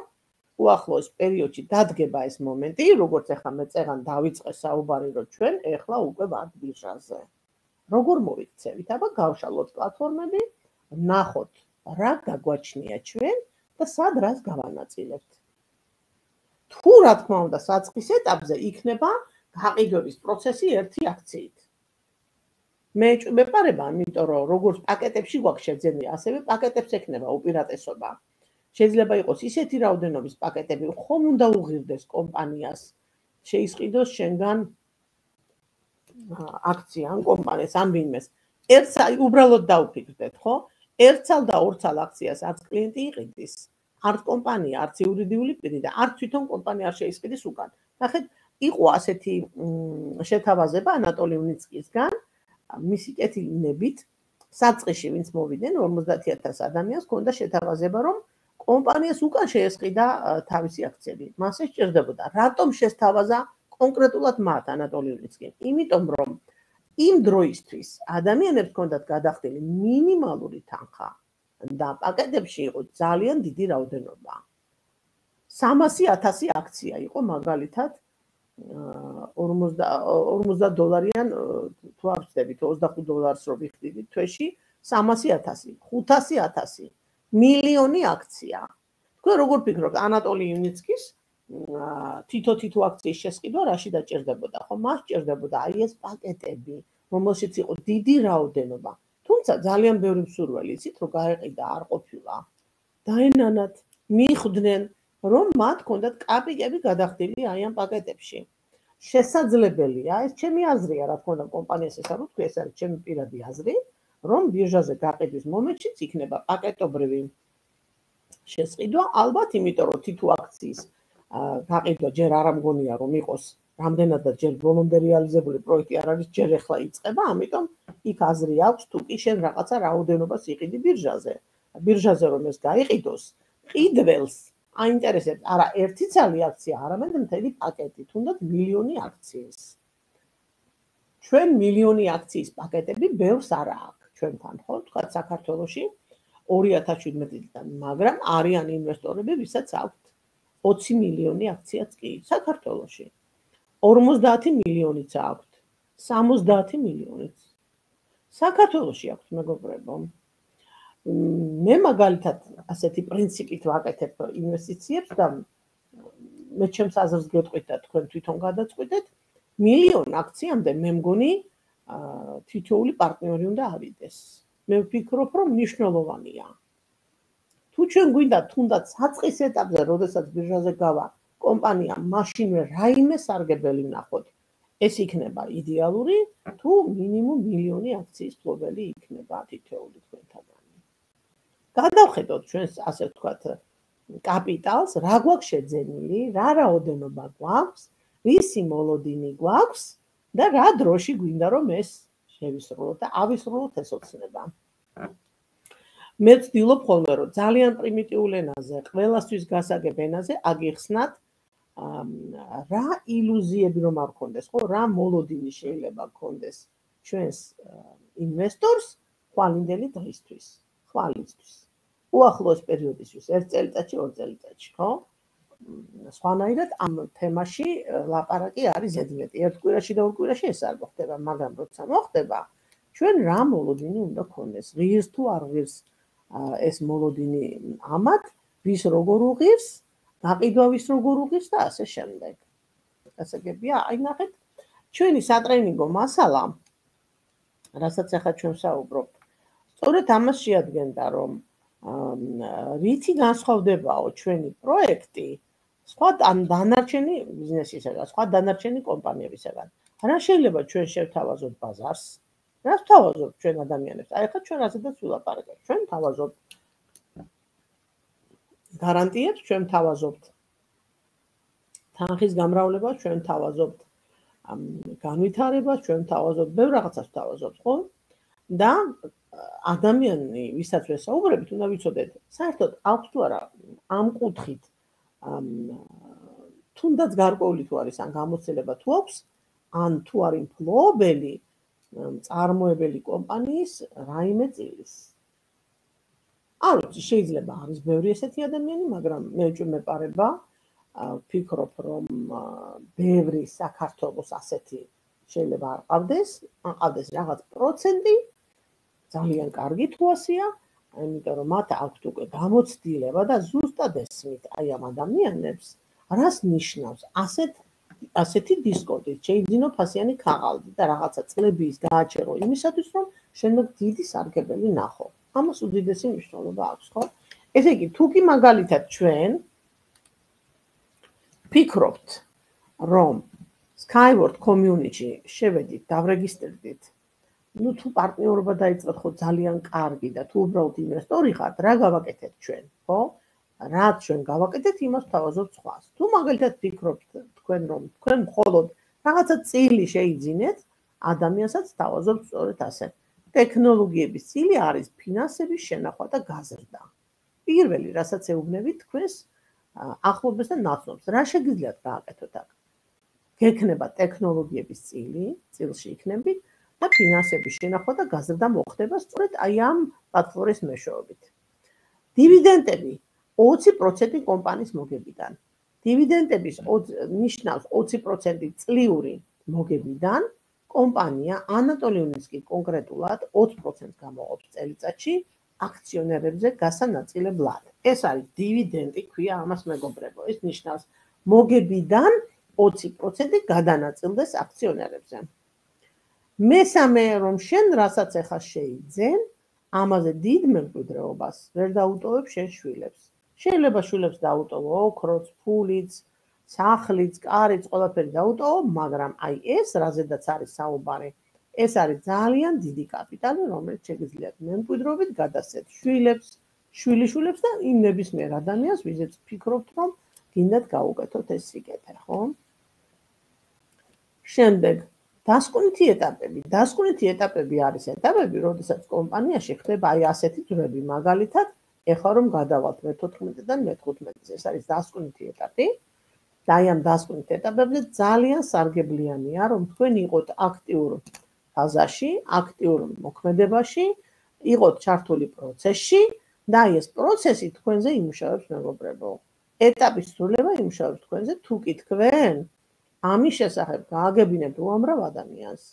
უახლოეს პერიოდში დადგება ეს მომენტი, როგორც ახლა მე წეღან დავიწყე საუბარი, რომ ჩვენ ეხლა უკვე ვართ ბირჟაზე. როგორ მოვიქცევით? აბა გავშალოთ პლატფორმები, ნახოთ რა გაგვაჩნია ჩვენ და სად რას გავანაწილებთ. თუ რა თქმა უნდა საწყის ეტაპზე იქნება გაყიდვების პროცესი ერთი აქციით. მე მეპარება, იმიტომ რომ როგორც პაკეტებში გვაქვს შეძენილი, ასევე პაკეტებს ექნება უპირატესობა. შეიძლება იყოს ისეთი რაოდენობის პაკეტები, ხომ უნდა უღირდეს კომპანიას, შეისყიდოს შენგან აქცია ან კომპანიას ან ვინმეს. ერთს უბრალოდ დაუფიქრდეთ, ხო? ერთსალ და ორსალ აქციას არც კლიენტი იყიდის, არც კომპანია, არც იურიდიული პირი და არც თვითონ კომპანია არ შეისყიდის უკან. ნახეთ, იყო ასეთი შეთავაზება ანატოლი უნიცკისგან, მისი კეთილინებით, საწყისში ვინც მოვიდნენ ორმოცდაათი ათას ადამიანს ჰქონდა შეთავაზება, რომ კომპანიას უკან შეესყიდა თავისი აქციები. მას ეს სჭირდებოდა. რატომ შესთავაზა კონკრეტულად მათ ანატოლი უნიცკი? იმიტომ რომ იმ დროისთვის ადამიანებს ჰქონდათ გადახდილი მინიმალური თანხა და პაკეტებში იყო ძალიან დიდი რაოდენობა. სამასი ათასი აქცია იყო მაგალითად ორმოცდა დოლარიან თუ არ ვცდებით ოცდახუთ დოლარს რო ვიხდიდით თვეში სამასი ათასი, ხუთასი ათასი, მილიონი აქცია. თქვენ როგორ ფიქრობთ ანატოლი უნიცკის თითო-თითო აქციის შესყიდვა რაში დაჭირდებოდა? ხო, მას ჭირდებოდა აი ეს პაკეტები, რომელშიც იყო დიდი რაოდენობა. თუმცა ძალიან ბევრი მსურველი იცით, რომ გაეყიდა არ ყოფილა. დაენანათ, მიხვდნენ, რომ მათ ჰქონდათ კაპიკები გადახდილი აი ამ პაკეტებში. შესაძლებელია, ეს ჩემი აზრია, რა თქმა უნდა, კომპანიას ეს არ ვთქვი, ეს არის ჩემი პირადი აზრი, რომ ბირჟაზე გაყიდვის მომენტშიც იქნება პაკეტობრივი შესყიდვა, ალბათ, იმიტომ რომ თითო აქციის გაყიდვა ჯერ არ ამგონია, რომ იყოს რამდენადაც ჯერ ბოლომდე რეალიზებული პროექტი არ არის, ჯერ ახლა იწყება, ამიტომ იქ აზრი აქვს, თუ კი შენ რაღაცა რაოდენობას იყიდი ბირჟაზე. ბირჟაზე რომ ეს გაიყიდოს, ყიდველს აინტერესებს არა ერთი ცალი აქცია, არამედ მთელი პაკეტი, თუნდაც მილიონი აქციის. ჩვენ მილიონი აქციის პაკეტები ბევრს არ აქვს ჩვენთან, ხო? თქვა საქართველოში ორი ათას შვიდმეტიდან, მაგრამ არიან ინვესტორები, ვისაც აქვთ ოცი მილიონი აქციაც კი საქართველოში. ორმოცდაათი მილიონიც აქვთ, სამოცდაათი მილიონიც. საქართველოში აქვთ მეგობრებო. მე მაგალითად ასეთი პრინციპით ვაკეთებ ინვესტიციებს და მე ჩემს აზრს გეტყვით და თქვენ თვითონ გადაწყვეტეთ, მილიონ აქციამდე მე მგონი თითოეული პარტნიორი უნდა ავიდეს. მე ვფიქრობ, რომ მნიშვნელოვანია. თუ ჩვენ გვინდა თუნდაც საწყის ეტაპზე, როდესაც ბირჟაზე გავა კომპანია, მაშინვე რაიმე სარგებელი ვნახოთ. ეს იქნება იდეალური, თუ მინიმუმ მილიონი აქციის ფლობელი იქნება თითოეული თქვენთაგანი. გადავხედოთ ჩვენს ასე ვთქვათ კაპიტალს, რა გვაქვს შეძენილი, რა რაოდენობა გვაქვს, რისი მოლოდინი გვაქვს და რა დროში გვინდა რომ ეს შევისრულოთ და ავისრულოთ ეს ოცნება. მე ვცდილობ ხოლმე რომ ძალიან პრიმიტიულ ენაზე, ყველასთვის გასაგებ ენაზე აგიხსნათ რა ილუზიები რომ არ გქონდეს, ხო, რა მოლოდინი შეიძლება გქონდეს ჩვენს ინვესტორს ხვალინდელი დღისთვის, ხვალისთვის. უახლოეს პერიოდისთვის, ერთ წელიწადში, ორ წელიწადში, ხო? სხვანაირად ამ თემაში ლაპარაკი არის ზედმეტი. ერთ კვირაში და ორ კვირაში ეს არ მოხდება, მაგრამ როცა მოხდება, ჩვენ რა მოლოდინი უნდა გქონდეს, ღირს თუ არ ღირს ეს მოლოდინი ამათ, ვის როგორ უღირს, გაყიდვა ვის როგორ უღირს და ასე შემდეგ. გასაგებია, აი ნახეთ, ჩვენი სატრენინგო მასალა, რასაც ახლა ჩვენ ვსაუბრობთ, სწორედ ამას შეადგენდა, რომ რითი განსხვავდებაო ჩვენი პროექტი სხვა დანარჩენი ბიზნესისაგან, სხვა დანარჩენი კომპანიებისაგან. რა შეიძლება ჩვენ შევთავაზოთ ბაზარს? რას ვთავაზობთ ჩვენ ადამიანებს? აი ახლა ჩვენ ასეთაც ვილაპარაკებთ. ჩვენ ვთავაზობთ გარანტიებს, ჩვენ ვთავაზობთ თანხის გამრავლებას, ჩვენ ვთავაზობთ განვითარებას, ჩვენ ვთავაზობთ ბევრ რაღაცას ვთავაზობთ, ხო? და ადამიანი, ვისაც ვესაუბრებით, უნდა ვიცოდეთ, საერთოდ აქვს თუ არა ამ კუთხით თუნდაც გარკვეული თუ არის ან გამოცდილება თუ აქვს, ან თუ არის მფლობელი წარმოებელი კომპანიის რაიმე წილის. არ ვიცი, შეიძლება არის ბევრი ესეთი ადამიანი, მაგრამ მე ვჭმეპარება, ვფიქრობ, რომ ბევრი საქართველოს ასეთი შეიძლება არ ყავდეს, ან ყავდეს რაღაც პროცენტი, ძალიან კარგი თუ ასეა, იმიტომ რომ მათ აქვთ უკვე გამოცდილება და ზუსტად ესმით აი ამ ადამიანებს, რას ნიშნავს ასეთ ასეთი დისკონტით შეიძინო ფასიანი ქაღალდი და რაღაცა წლების გააჩერო იმისათვის, რომ შემდეგ დიდი სარგებელი ნახო. ამას უდიდესი მნიშვნელობა აქვს, ხო? ესე იგი, თუ კი მაგალითად ჩვენ ფიქრობთ, რომ Skyward community შევედით, დავრეგისტრდით, ну თუ პარტნიორობა დაიწყოთ ხო ძალიან კარგი და თუ უბრალოდ ინვესტორი ხართ, რა გავაკეთეთ ჩვენ, ხო? რაც ჩვენ გავაკეთეთ, იმას ვთავაზობთ სხვას. თუ მაგალითად ფიქრობთ თქვენ რომ თქვენ მხოლოდ რაღაცა წილი შეიძინეთ, ადამიანსაც ვთავაზობთ სწორედ ასე. ტექნოლოგიების წილი არის ფინანსების შენახვა და გაზრდა. პირველი, რასაც ეუბნებით თქვენს ახლობლებს და ნაცნობს, რა შეგიძლიათ გააკეთოთ აქ? გექნება ტექნოლოგიების წილი, წილში იქნებით და ფინანსების შენახვა და გაზრდა მოხდება სწორედ აი ამ პლატფორმის მეშვეობით. დივიდენდები ოცი პროცენტი კომპანიის მოგებიდან. დივიდენდების ნიშნავს ოცი პროცენტი წლიური მოგებიდან, კომპანია ანატოლიუნისკი კონკრეტულად ოცი პროცენტს გამოყოფს წელიწადში აქციონერებზე გასანაწილებლად. ეს არის დივიდენდი, ქვია ამას მეგობრებო. ეს ნიშნავს მოგებიდან ოცი პროცენტი გადანაწილდეს აქციონერებზე. მესამე რომ შენ რასაც ახლა შეიძენ, ამაზე დიდ მემკვიდრეობას ვერ დაუტოვებ შენ შვილებს. შეიძლება შვილებს დაუტოვო ოქროც, ფულიც, სახლიც, კარიც, ყველაფერი დაუტოვო, მაგრამ აი ეს რაზედაც არის საუბარი, ეს არის ძალიან დიდი კაპიტალი, რომელიც შეგიძლიათ მემკვიდრეობით გადასცეთ შვილებს, შვილიშვილებს და იმ ნებისმიერ ადამიანს, ვიზეც ფიქრობთ, რომ გინდათ გაუკეთოთ ეს სიკეთე, ხო? შემდეგ დასკვნითი ეტაპები. დასკვნითი ეტაპები არის ეტაპები, როდესაც კომპანიაში ხდება აი ასეთი დროები, მაგალითად, ეხლა რომ გადავალთ მე თოთხმეტიდან მე თხუთმეტზე, ეს არის დასკვნითი ეტაპი. და აი ამ დასკვნით ეტაპებზე ძალიან სარგებლიანია, რომ თქვენ იყოთ აქტიურ ფაზაში, აქტიურ მოქმედებაში, იყოთ ჩართული პროცესში და აი ეს პროცესი თქვენზე იმუშავებს, მეგობრებო. ეტაპის სრულება იმუშავებს თქვენზე, თუ კი თქვენ ამის შესახებ გააგებინებთ უამრავ ადამიანს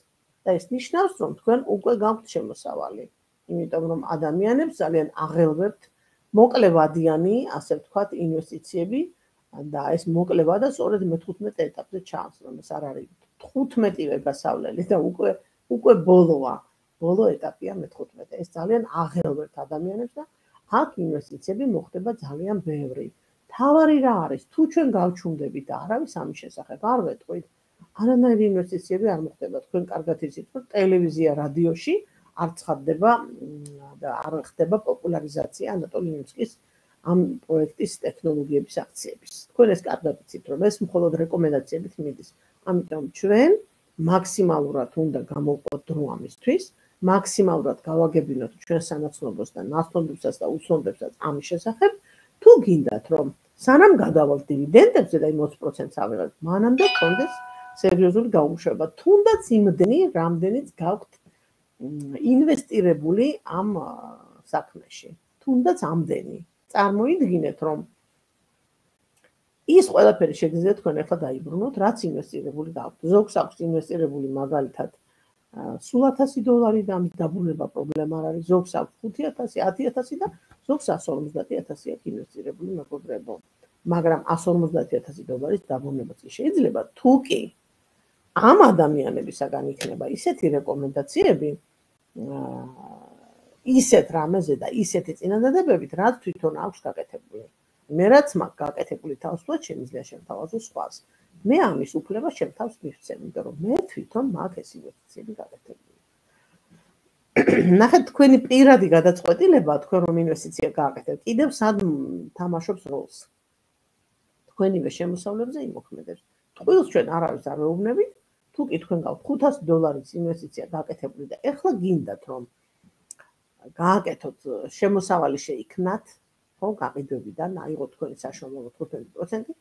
და ეს ნიშნავს, რომ თქვენ უკვე გაქვთ შემოსავალი, იმიტომ რომ ადამიანებს ძალიან აღელვებთ მოკლევადიანი, ასე ვთქვათ, ინვესტიციები და ეს მოკლევადა სწორედ მეთუთხმეტ ეტაპზე ჩანს, რომ ეს არ არის თხუთმეტივე გასავლელი და უკვე უკვე ბოლოა, ბოლო ეტაპია მეთუთხმეტე. ეს ძალიან აღელვებთ ადამიანებს და აქ ინვესტიციები მოხდება ძალიან ბევრი. თავარი რა არის, თუ ჩვენ გავჩუმდებით და არავის ამის შესახებ არ ვეტყვით, არანაირი ინვესტიციები არ მოხდება. თქვენ კარგად იცით, რომ ტელევიზია, რადიოში არ ცხადდება და არ ხდება პოპულარიზაცია ანატოლი ნიმსკის ამ პროექტის ტექნოლოგიების აქციების. თქვენ ეს კარგად იცით, რომ ეს მხოლოდ რეკომენდაციებით მიდის. ამიტომ ჩვენ მაქსიმალურად უნდა გამოვყოთ დრო ამისთვის, მაქსიმალურად გავაგებინოთ ჩვენ სანაცნობოს და ნაცნობებსაც და უცნობებსაც ამის შესახებ, თუ გინდათ, რომ სანამ გადავალთ დივიდენდებზე და ოცი პროცენტს ავიღებთ, მანამდე გქონდეს სერიოზული გაუმუშავება. თუნდაც იმდენი, რამდენიც გაქვთ ინვესტირებული ამ საქმეში. თუნდაც ამდენი. წარმოიდგინეთ, რომ ის ყველაფერი შეგიძლიათ თქვენ ახლა დაიბრუნოთ, რაც ინვესტირებული გაქვთ. ზოგს აქვს ინვესტირებული მაგალითად სულ ათასი დოლარი და ამის დაბრუნება პრობლემა არ არის. ზოგს აქვს ხუთი ათასი, ათი ათასი და ზოგს εκατს ორმოცდაათი ათასი აქვს ინვესტირებული, მეგობრებო. მაგრამ εκατს ორმოცდაათი ათასი დოლარის დაბრუნებაც შეიძლება, თუ კი ამ ადამიანებისაგან იქნება ისეთი რეკომენდაციები, ისეთ რამეზე და ისეთი წინადადებებით, რაც თვითონ აქვს გაკეთებული. მე რაც მაქვს გაკეთებული თავისუფლად შემიძლია შემთავაზო სხვას. მე ამის უფლება შემთავს მივცემ, იმიტომ რომ მე თვითონ მაქვს ეს ინვესტიციები გაკეთებული. ნახეთ, თქვენი პირადი გადაწყვეტილება, თქვენ რომ ინვესტიცია გააკეთებთ, კიდევ სად თამაშობს როლს. თქვენივე შემოსავლებზე იმოქმედებს. ტყუილს ჩვენ არავის არ ვეუბნებით, თუ კი თქვენ გაქვთ ხუთასი დოლარის ინვესტიცია გაკეთებული და ეხლა გინდათ რომ გააკეთოთ, შემოსავალი შეიქმნათ, ხო, გაყიდვებიდან, აიღოთ თქვენი საშუალო თხუთმეტი პროცენტი,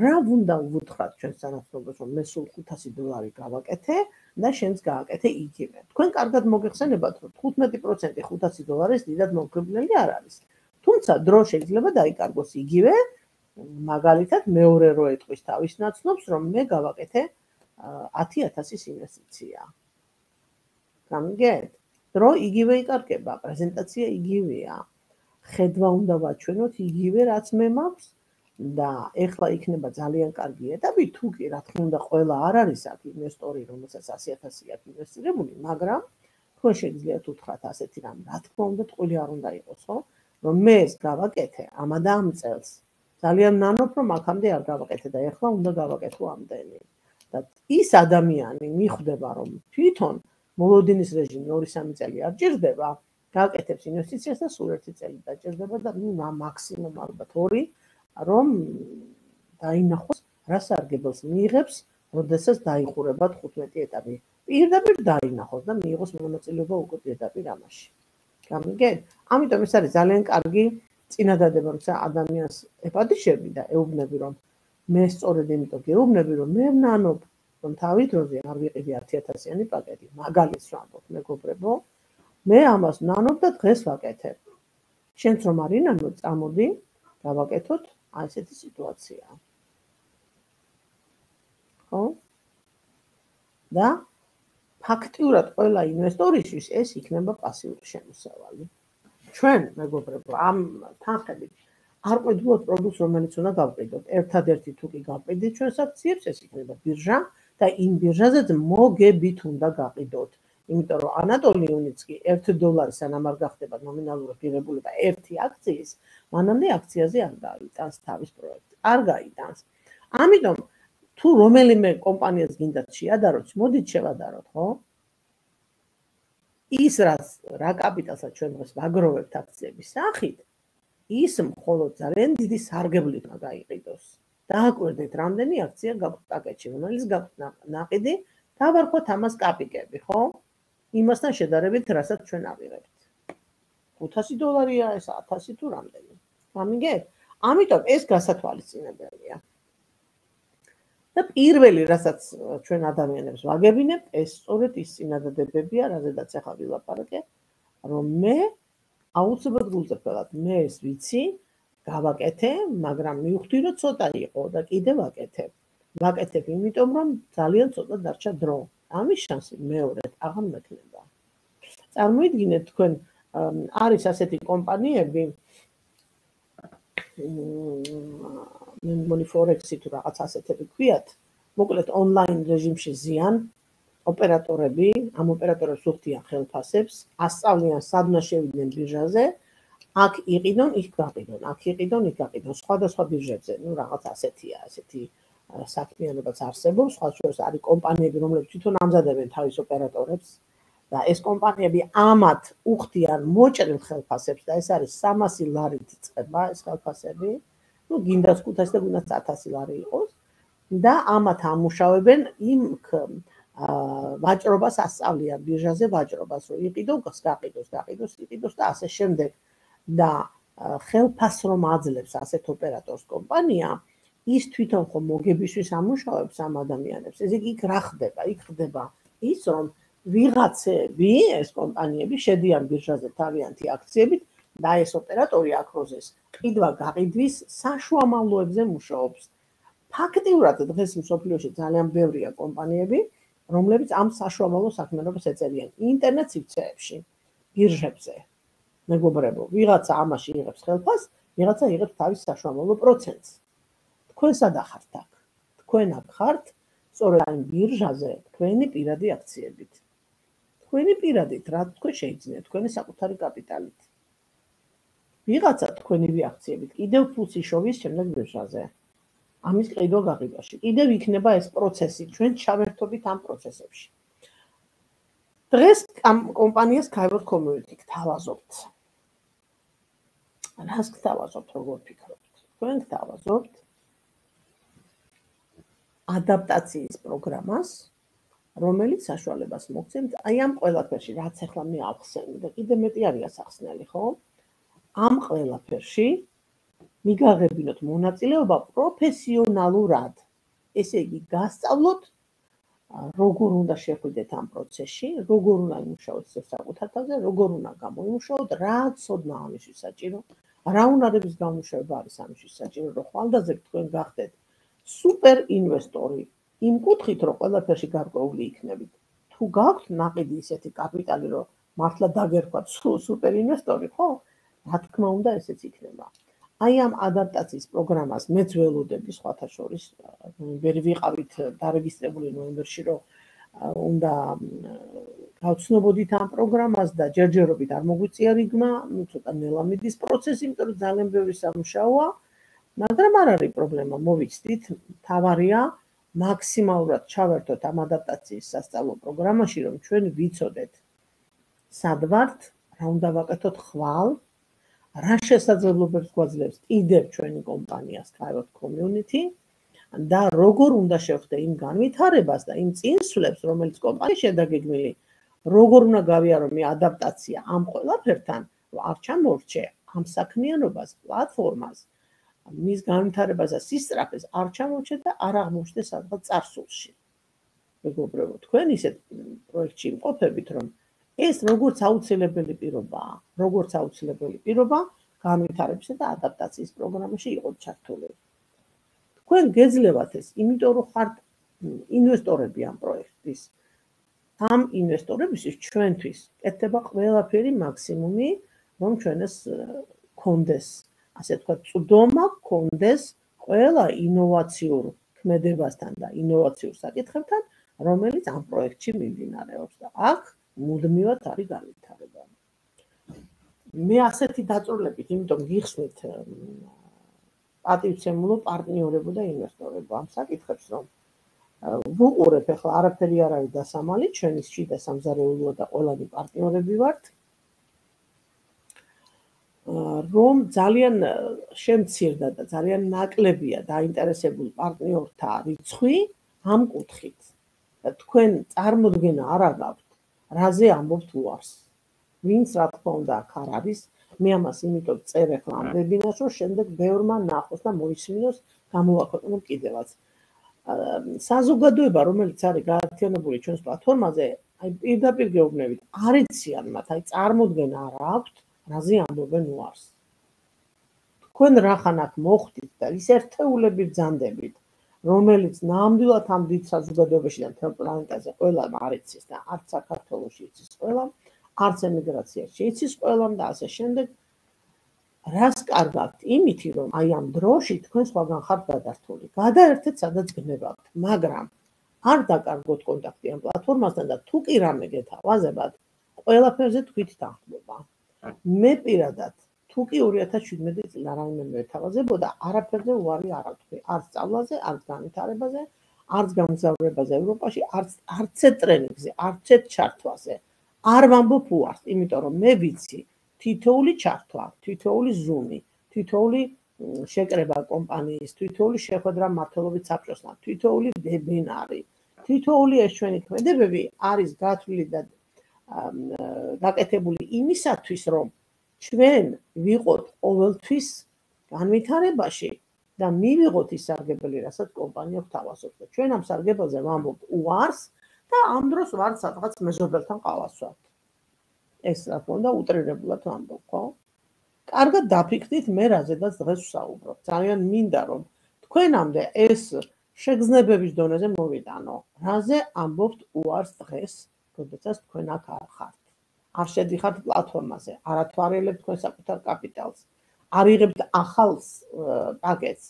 რა უნდა uvutხრათ ჩვენ სანაცნობოს, რომ მე სულ ხუთასი დოლარი გავაკეთე და შენც გააკეთე იგივე. თქვენ კარგად მოგეხსენებათ, რომ თხუთმეტი პროცენტი ხუთასი დოლარის დიდად მომხიბვლელი არ არის. თუმცა დრო შეიძლება დაიკარგოს იგივე, მაგალითად მეორე რო ეტყვის თავის ნაცნობს, რომ მე გავაკეთე ათი ათასის ინვესტიცია. გამიგეთ? დრო იგივე იკარგება, პრეზენტაცია იგივეა. ხედვა უნდა ვაჩვენოთ იგივე, რაც მე მაქვს და ეხლა იქნება ძალიან კარგი ეტაპი, თუ კი რა თქმა უნდა ყველა არ არის აქ ინვესტორი, რომელსაც ასი ათასი აქვს ინვესტირებული, მაგრამ თქვენ შეგიძლიათ უთხრათ ასეთი რამ, რა თქმა უნდა ტყუილი არ უნდა იყოს, ხო? რომ მე ეს გავაკეთე ამა და ამ წელს. ძალიან ნანობ, რომ აქამდე არ გავაკეთე და ეხლა უნდა გავაკეთო ამდენი. და ის ადამიანი მიხვდება, რომ თვითონ მოლოდინის რეჟიმი ორი სამი წელი არ ჭირდება, გააკეთებს ინვესტიციას და სულ ერთი წელი დაჭირდება და ნუ მაქსიმუმ ალბათ ორი, რომ დაინახოს რა სარგებელს მიიღებს, როდესაც დაიხურება თხუთმეტი ეტაპი. პირდაპირ დაინახოს და მიიღოს მონაწილეობა უკვე პირდაპირ ამაში. გამიგეთ? ამიტომ ეს არის ძალიან კარგი წინადადება, როცა ადამიანს ეპატიშები და ეუბნები, რომ მე სწორედ იმიტომ გეუბნები, რომ მე ვნანობ, რომ თავი დროზე არ ვიყიდი ათი ათასიანი პაკეტი, მაგალითს ვამბობ, მეგობრებო, მე ამას ვნანობ და დღეს ვაკეთებ. შენც რომ არ ინანო, წამოდი, გავაკეთოთ აი ესეთი სიტუაცია. ხო? და ფაქტიურად ყველა ინვესტორისთვის ეს იქნება პასიური შემოსავალი. ჩვენ, მეგობრებო, ამ თანხებით არ ყვედულობთ პროდუქტს, რომელიც უნდა გავყიდოთ. ერთადერთი თუ კი გავყიდით ჩვენს აქციებს, ეს იქნება ბირჟა და იმ ბირჟაზეც მოგებით უნდა გაყიდოთ. იმიტომ რომ ანატოლი ნიმსკი ერთი დოლარი სანამ არ გახდება ნომინალური ღირებულება ერთი აქციის, მანამდე აქციაზე არ გაიტანს თავის პროექტს. არ გაიტანს. ამიტომ თუ რომელიმე კომპანიას გინდათ შეადაროთ, მოდით შევადაროთ, ხო? ის რაც რა კაპიტალსაც ჩვენ დღეს ვაგროვებთ აქციების სახით, ის მხოლოდ ძალიან დიდი სარგებლით უნდა გაიყიდოს. დააკვირდეთ, რამდენი აქცია გაქვთ პაკეტში, რომელიც გაქვთ ნაყიდი, დავარქვათ ამას კაპიკები, ხო? იმასთან შედარებით, რასაც ჩვენ ავიღებთ. ხუთასი დოლარია, ეს ათასი თუ რამდენი. გამიგეთ? ამიტომ ეს გასათვალისწინებელია. და პირველი, რასაც ჩვენ ადამიანებს ვაგებინებთ, ეს სწორედ ის წინადადებებია, რაზედაც ახლა ვილაპარაკე, რომ მე აუცილებლად გულწრფელად მე ეს ვიცი, გავაკეთე, მაგრამ მივხვდი, რომ ცოტა იყო და კიდე ვაკეთებ. ვაკეთებ იმიტომ, რომ ძალიან ცოტა დარჩა დრო. ამის შანსი მეორედ აღარ მექნება. წარმოიდგინეთ თქვენ არის ასეთი კომპანიები მე მგონი Forex-ი თუ რაღაც ასეთები ქვიათ, მოკლედ ონლაინ რეჟიმში ზიან ოპერატორები, ამ ოპერატორებს უხდიან ხელფასებს, ასწავლიან სადმა შევიდნენ ბირჟაზე, აქ იყიდონ, იქ გაყიდონ, აქ იყიდონ, იქ გაყიდონ, სხვადასხვა ბირჟებზე, ну რაღაც ასეთია, ასეთი საქმიანობაც არსებობს, სხვა შორის არის კომპანიები, რომლებიც თვითონ ამზადებენ თავის ოპერატორებს და ეს კომპანიები ამათ უხდიან მოჭრილ ხელფასებს და ეს არის სამასი ლარით იწყება ეს ხელფასები, ну გინდას ხუთასი და გინდას ათასი ლარი იყოს და ამათ ამუშავებენ იმ ვაჭრობას ასწავლიან ბირჟაზე ვაჭრობას, რომ იყიდოს, გაყიდოს, გაყიდოს, იყიდოს და ასე შემდეგ და ხელფასს რომ აძლევს ასეთ ოპერატორს კომპანია, ის თვითონ ხომ მოგებისთვის ამუშავებს ამ ადამიანებს. ესე იგი იქ რა ხდება? იქ ხდება ის, რომ ვიღაცები, ეს კომპანიები შედიან ბირჟაზე თავიანთი აქციებით და ეს ოპერატორი აქროზეს ყიდვა გაყიდვის საშუამავლოებზე მუშაობს. ფაქტიურად დღეს მსოფლიოში ძალიან ბევრია კომპანიები, რომლებიც ამ საშუამავლო საქმიანობას ეწევიან ინტერნეტ სივრცეებში, ბირჟებზე. მეგობრებო, ვიღაცა ამაში იღებს ხელფასს, ვიღაცა იღებს თავის საშუამავლო პროცენტს. თქვენ სადა ხართ აქ? თქვენ აქ ხართ სწორედ ამ ბირჟაზე თქვენი პირადი აქციებით. თქვენი პირადით, რა თქვენ შეიძინეთ, თქვენი საკუთარი კაპიტალით. ვიღაცა თქვენივე აქციებით კიდევ ფულს იშოვის შემდეგ ბირჟაზე. ამის ყიდვა გაყიდვაში. კიდევ იქნება ეს პროცესი, ჩვენ ჩავერთობით ამ პროცესებში. დღეს ამ კომპანიას Kyber Community გთავაზობთ. რას გთავაზობთ, როგორ ფიქრობთ? თქვენ გთავაზობთ ადაპტაციის პროგრამას, რომელიც საშუალებას მოგცემთ აი ამ ყველაფერში, რაც ახლა მე ახსენე და კიდე მეტი არის ახსნელი, ხო? ამ ყველაფერში მიგაღებინოთ მონაწილეობა პროფესიონალურად. ესე იგი, გასწავლოთ როგორ უნდა შეხვიდეთ ამ პროცესში, როგორ უნდა იმუშაოთ საკუთარ თავზე, როგორ უნდა გამოიმუშაოთ, რა ცოდნა ამისთვის საჭირო, რა უნარების გამომუშავება არის ამისთვის საჭირო, რომ ხვალდაზე თქვენ გახდეთ სუპერ ინვესტორი, იმ კუთხით, რომ ყველაფერში გარკვეული იქნებით. თუ გაქვთ ნაყიდი ისეთი კაპიტალი, რომ მართლა დაგერქვათ სუპერ ინვესტორი, ხო? რა თქმა უნდა, ესეც იქნება. აი ამ ადაპტაციის პროგრამას მეც ველოდები სხვათა შორის, ვერ ვიყავით დარეგისტრირებული ნოემბერში, რომ უნდა გავცნობოდით ამ პროგრამას და ჯერჯერობით არ მოგვიწია რიგმა, ну ცოტა ნელა მიდის პროცესი, იმიტომ რომ ძალიან ბევრი სამუშაოა, მაგრამ არ არის პრობლემა, მოვიცდით, თავარია მაქსიმალურად ჩავერთოთ ამ ადაპტაციის სასწავლო პროგრამაში, რომ ჩვენ ვიცოდეთ სად ვართ, რა უნდა ვაკეთოთ ხვალ, რა შესაძლებლობებს გვაძლევს კიდევ ჩვენი კომპანიას Kyber Community და როგორ უნდა შევხვდე იმ განვითარებას და იმ წინსვლებს, რომელიც კომპანიის შედაგეგმილი, როგორ უნდა გავიარო მე ადაპტაცია ამ ყველაფერთან, რომ არ ჩამორჩე ამ საქმიანობას, პლატფორმას, მის განვითარებას და სისწრაფეს არ ჩამორჩე და არ აღმოჩნდე სადღაც წარსულში. მეგობრებო, თქვენ ისეთ პროექტში იმყოფებით, რომ ეს როგორც აუცილებელი პირობაა, როგორც აუცილებელი პირობა განვითარებისა და ადაპტაციის პროგრამაში იყოთ ჩართული. თქვენ გეძლევათ ეს, იმიტომ რომ ხართ ინვესტორები ამ პროექტის. ამ ინვესტორებისთვის ჩვენთვის კეთდება ყველაფერი მაქსიმუმი, რომ ჩვენ ეს გქონდეს, ასე ვთქვათ, წვდომა გქონდეს ყველა ინოვაციურ ქმედებასთან და ინოვაციურ საკითხებთან, რომელიც ამ პროექტში მიმდინარეობს და აქ მუდმივად არის განვითარება. მე ასეთი დაწვრილებით, იმიტომ გიხსნით პატივცემულო პარტნიორებო და ინვესტორებო ამ საკითხებს, რომ ვუყურებ ახლა არაფერი არ არის დასამალი, ჩვენი შიდა სამზარეულოა და ყველანი პარტნიორები ვართ, რომ ძალიან შემცირდა და ძალიან ნაკლებია დაინტერესებული პარტნიორთა რიცხვი ამ კუთხით. თქვენ წარმოდგენა არ აგაქვთ, რაზე ამბობთ უარს. ვინც რა თქმა უნდა აქ არ არის, მე ამას იმიტომ წერ ახლა ამ ვებინარს, რომ შემდეგ ბევრმა ნახოს და მოისმინოს, გამოვაქვეყნო კიდევაც. საზოგადოება, რომელიც არის გაერთიანებული ჩვენს პლატფორმაზე, აი პირდაპირ გეუბნებით, არ იციან მათ, აი წარმოდგენა არ აქვთ, რაზე ამბობენ უარს. თქვენ რახან აქ მოხვდით და ის ერთეულები ბრძანდებით, რომელიც ნამდვილად ამ დიდ საზოგადოებაში და მთელ პლანეტაზე ყველამ არ იცის და არც საქართველოში იცის ყველამ, არც ემიგრაციაში იცის ყველამ და ასე შემდეგ. რას კარგავთ? იმითი, რომ აი ამ დროში თქვენ სხვაგან ხართ გადართული. გადაერთეთ, სადაც გნებავთ, მაგრამ არ დაკარგოთ კონტაქტი ამ პლატფორმასთან და თუ კი რამე გეთავაზებათ, ყველაფერზე თქვით თანხმობა. მე პირადად თუ კი ორი ათას შვიდმეტი წელი რაიმე მეთავაზებოდა, არაფერზე უარი არ ავთქვი, არც სწავლაზე, არც განვითარებაზე, არც გამგზავრებაზე ევროპაში, არც არცეთ ტრენინგზე, არცეთ ჩართვაზე. არ ვამბობ უარს, იმიტომ რომ მე ვიცი, თითოეული ჩართვა, თითოეული ზუმი, თითოეული შეკრება კომპანიის, თითოეული შეხვედრა მმართველობის საბჭოსთან, თითოეული ვებინარი, თითოეული ეს ჩვენი ქმედებები არის გათვლილი და გაკეთებული იმისათვის, რომ ჩვენ ვიყოთ ყოველთვის განვითარებაში და მივიღოთ ის სარგებელი, რასაც კომპანია გვთავაზობს. ჩვენ ამ სარგებელზე ვამბობ უარს და ამ დროს ვართ სადღაც მეზობელთან ყავასვათ. ეს რა თქმა უნდა უტრირებულად ვამბობ, ხო? კარგად დაფიქრდით მე რაზედაც დღეს ვსაუბრობ. ძალიან მინდა რომ თქვენამდე ეს შეგრძნებების დონეზე მოვიტანო. რაზე ამბობთ უარს დღეს, როდესაც თქვენ აქ არ ხართ. არ შედიხართ პლატფორმაზე, არ ათვალიერებთ თქვენ საკუთარ კაპიტალს, არ იღებთ ახალ პაკეტს,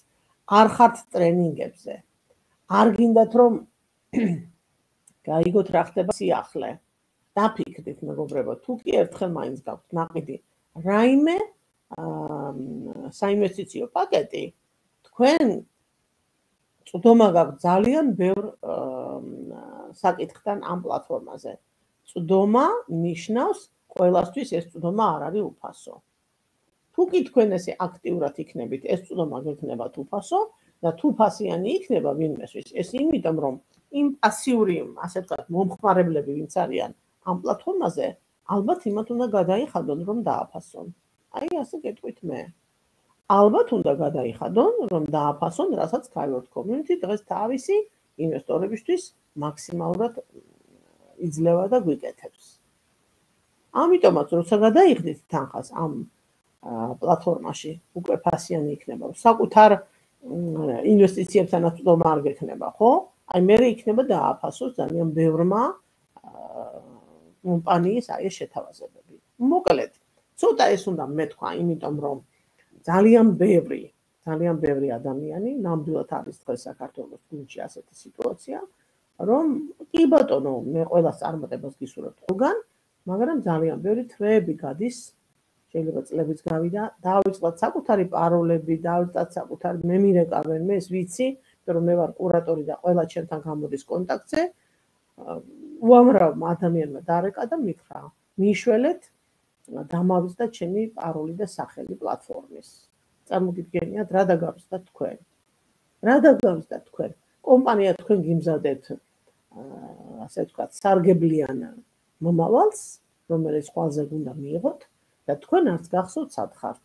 არ ხართ ტრენინგებზე. არ გინდათ რომ გაიგოთ რა ხდება სიახლე. დაფიქრდით მეგობრებო, თუ კი ერთხელ მაინც გაქვთ ნაყიდი რაიმე საინვესტიციო პაკეტი, თქვენ წვდომა გაქვთ ძალიან ბევრ საკითხთან ამ პლატფორმაზე. წვდომა ნიშნავს ყველასთვის ეს წვდომა არ არის უფასო. თუ კი თქვენ ესე აქტიურად იქნებით, ეს წვდომა გექნებათ უფასო და თუ ფასიანი იქნება ვინმესთვის, ეს იმიტომ რომ იმ პასიური, ასე ვთქვათ, მომხმარებლები ვინც არიან ამ პლატფორმაზე, ალბათ იმათ უნდა გადაიხადონ, რომ დააფასონ. აი ასე გეტყვით მე. ალბათ უნდა გადაიხადონ, რომ დააფასონ, რასაც Skyward Community დღეს თავისი ინვესტორებისთვის მაქსიმალურად იძლევა და გვიკეთებს. ამიტომაც, როცა გადაიხდით თანხას ამ პლატფორმაში, უკვე ფასიანი იქნება. საკუთარ ინვესტიციებთანაც წვდომა არ გექნება, ხო? აი მე იქნება დააფასოს ძალიან ბევრმა კომპანიის აი ეს შეთავაზებები. მოკლედ, ცოტა ეს უნდა მეთქვა, იმიტომ რომ ძალიან ბევრი, ძალიან ბევრი ადამიანი ნამდვილად არის დღეს საქართველოს გუნდში ასეთი სიტუაცია, რომ კი ბატონო, მე ყველას წარმატებას გისურვებთ ყველგან, მაგრამ ძალიან ბევრი თვეები გადის, შეიძლება წლებიც გავიდა, დავიწყოთ საკუთარი პაროლები, დავიწყოთ საკუთარი მე მირეკავენ, მე ეს ვიცი, რომ მე ვარ კურატორი და ყველა ჩემთან გამოდის კონტაქტზე. უამრავმა ადამიანმა დარეკა და მითხრა, მიშველეთ დამავიწყდა ჩემი პაროლი და სახელი პლატფორმის. წარმოგიდგენიათ, რა დაგავიწყდათ თქვენ? რა დაგავიწყდათ თქვენ? კომპანია თქვენ გიმზადეთ, ასე ვთქვათ, სარგებლიან მომავალს, რომელიც ყველაზე უნდა მიიღოთ და თქვენ არც გახსოვთ სად ხართ.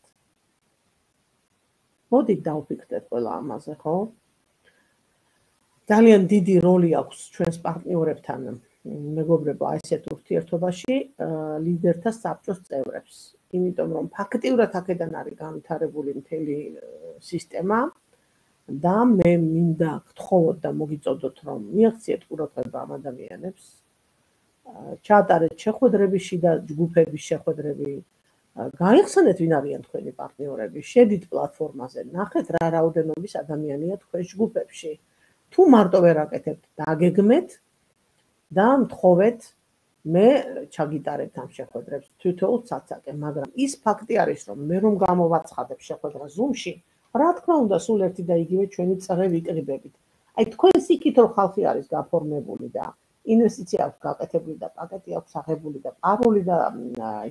მოდით დავფიქრდეთ ყველა ამაზე, ხო? ძალიან დიდი როლი აქვს ჩვენს პარტნიორებთან, მეგობრებო, ასეთ ურთიერთობაში ლიდერთა საბჭოს წევრებს. იმიტომ რომ ფაქტიურად აქედან არის განვითარებული მთელი სისტემა და მე მინდა გთხოვოთ და მოგიწოდოთ, რომ მიაღწიეთ ყურადღება ამ ადამიანებს, ჩაატარეთ შეხვედრების შიდა ჯგუფების შეხვედრები, გაიხსენეთ ვინ არიან თქვენი პარტნიორები, შედით პლატფორმაზე, ნახეთ რა რაოდენობის ადამიანია თქვენ ჯგუფებში. თუ მარტო ვერ აკეთებთ, დაგეგმეთ და მთხოვეთ მე ჩაგიტარებთ ამ შეხვედრებს თითოეულ ცაცაკე, მაგრამ ის ფაქტი არის, რომ მე რომ გამოვაცხადებ შეხვედრა Zoom-ში, რა თქმა უნდა, სულ ერთი და იგივე ჩვენი წრე ვიკრიბებით. აი თქვენ სიკით რომ ხალხი არის გაფორმებული და ინვესტიცია აქვს გაკეთებული და პაკეტი აქვს აღებული და პაროლი და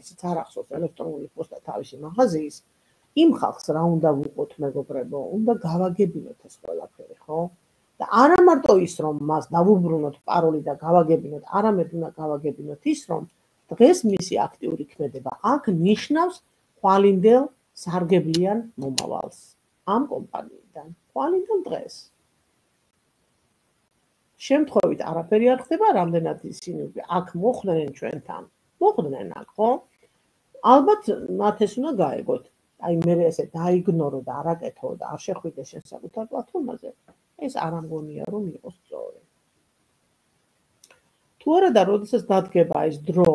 ისიც არ ახსოვს ელექტრონული პოსტა თავისი მაღაზიის, იმ ხალხს რა უნდა ვუყოთ მეგობრებო, უნდა გავაგებინოთ ეს ყველაფერი, ხო? და არა მარტო ის, რომ მას დავუბრუნოთ პაროლი და გავაგებინოთ, არამედ უნდა გავაგებინოთ ის, რომ დღეს მისი აქტიური ქმედება აქ ნიშნავს ხვალინდელ სარგებლიან მომავალს ამ კომპანიიდან. ხვალინდელ დღეს. შემთხვევით არაფერი არ ხდება, რამდენად ისინი აქ მოხვდნენ ჩვენთან. მოხვდნენ აქ, ხო? ალბათ მათ ეს უნდა გაეგოთ. აი მე ესე დაიგნორო და არაკეთო და არ შეხვიდე შენ საკუთარ პლატფორმაზე. ეს არ ამგონია რომ იყოს სწორი. თუ არა და როდესაც დადგება ეს დრო,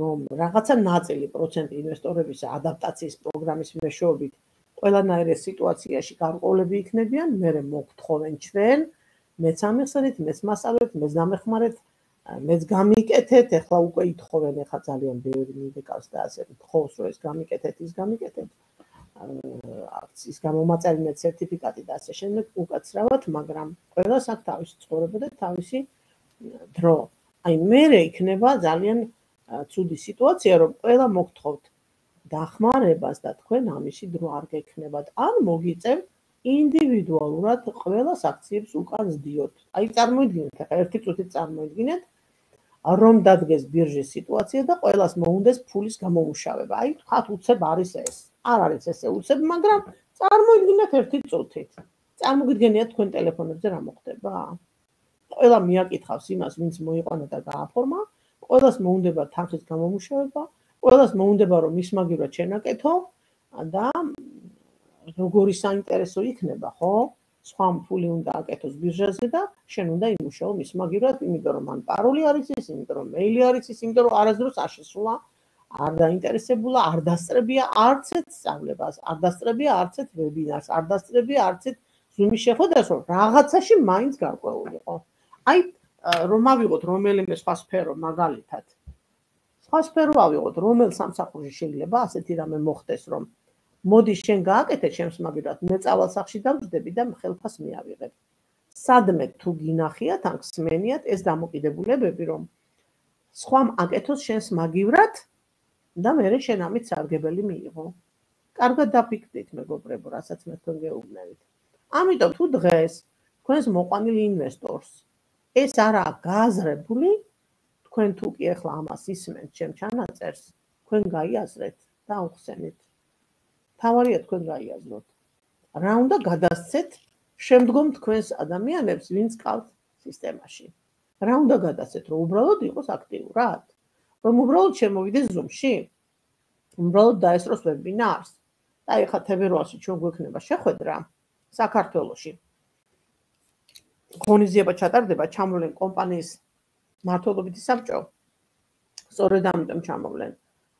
რომ რაღაცა ნაწილი პროცენტი ინვესტორების ადაპტაციის პროგრამის მეშვეობით ყველანაირ სიტუაციაში გარკვეულები იქნებიან, მე მოგთხოვენ ჩვენ, მეც ამიხსენით, მეც მასწავლეთ, მეც დამეხმარეთ, მეც გამიკეთეთ, ეხლა უკვე ითხოვენ, ეხლა ძალიან ბევრი მიდეკავს და ასე თხოვს, რომ ეს გამიკეთეთ, ის გამიკეთეთ. აქციის გამომაწვევი სერტიფიკატი და ასე შემდეგ უკაცრავად, მაგრამ ყველას აქვს თავისი ცხოვრება და თავისი დრო. აი მე იქნება ძალიან ცუდი სიტუაცია, რომ ყველა მოგთხოვთ დახმარებას და თქვენ ამისი დრო არ გექნებათ. ან მოგიწევთ ინდივიდუალურად ყველას აქციებს უკან ზდიოთ. აი წარმოიდგინეთ, ახლა ერთი წუთით წარმოიდგინეთ, რომ დადგეს ბირჟის სიტუაცია და ყველას მოუნდეს ფულის გამომუშავება. აი თქვათ უცებ არის ეს. არ არის ესე უცებ, მაგრამ წარმოიდგინეთ ერთი წუთით. წარმოგიდგენიათ თქვენ ტელეფონებზე რა მოხდება? ყველა მიაკითხავს იმას, ვინც მოიყვანა და გააფორმა, ყველას მოუნდება თანხის გამომუშავება, ყველას მოუნდება რომ მისმაგირად შენაკეთო და როგორი საინტერესო იქნება, ხო? სხვა ფული უნდა აკეთოს ბირჟაზე და შენ უნდა იმუშაო მისმაგირად, იმიტომ რომ მან პაროლი არის ის, იმიტომ რომ მეილი არის ის, იმიტომ რომ არასდროს არ შესულა, არ დაინტერესებულა, არ დასწრებია არც ერთ სწავლებას, არ დასწრებია არც ერთ ვებინარს, არ დასწრებია არც ერთ ზუმის შეხვედრას, რომ რაღაცაში მაინც გარკვეულიყო. აი რომ ავიღოთ რომელიმე სხვა სფერო მაგალითად. სხვა სფერო ავიღოთ, რომელ სამსახურში შეიძლება ასეთი რამე მოხდეს, რომ მოდი შენ გააკეთე ჩემს მაგირად, მე წავალ სახში დავждები და ხელფას მიავიღებ. სადმე თუ გინახიათ, ან გსმენიათ ეს დამოკიდებულებები, რომ სხვამ აკეთოს შენს მაგივრად და მე შენ ამით სარგებელი მიიღო. კარგად დაფიქრდით, მეგობრებო, რასაც მე თქვენ გეუბნებით. ამიტომ თუ დღეს თქვენს მოყვანილ ინვესტორს ეს არაა გააზრებული, თქვენ თუ კი ახლა ამას ისმენთ ჩემ ჩანაწერს, თქვენ გაიაზრეთ და აუხსენით. თავარია თქვენ გაიაზროთ. რა უნდა გადასცეთ შემდგომ თქვენს ადამიანებს, ვინც ყავთ სისტემაში. რა უნდა გადასცეთ, რომ უბრალოდ იყოს აქტიურად, რომ უბრალოდ შემოვიდეს ზუმში, უბრალოდ დაესწროს ვებინარს. და ეხლა თებერვალში ჩვენ გვექნება შეხვედრა საქართველოში. ღონისძიება ჩატარდება, ჩამოვლენ კომპანიის მმართველობითი საბჭო. სწორედ ამიტომ ჩამოვლენ,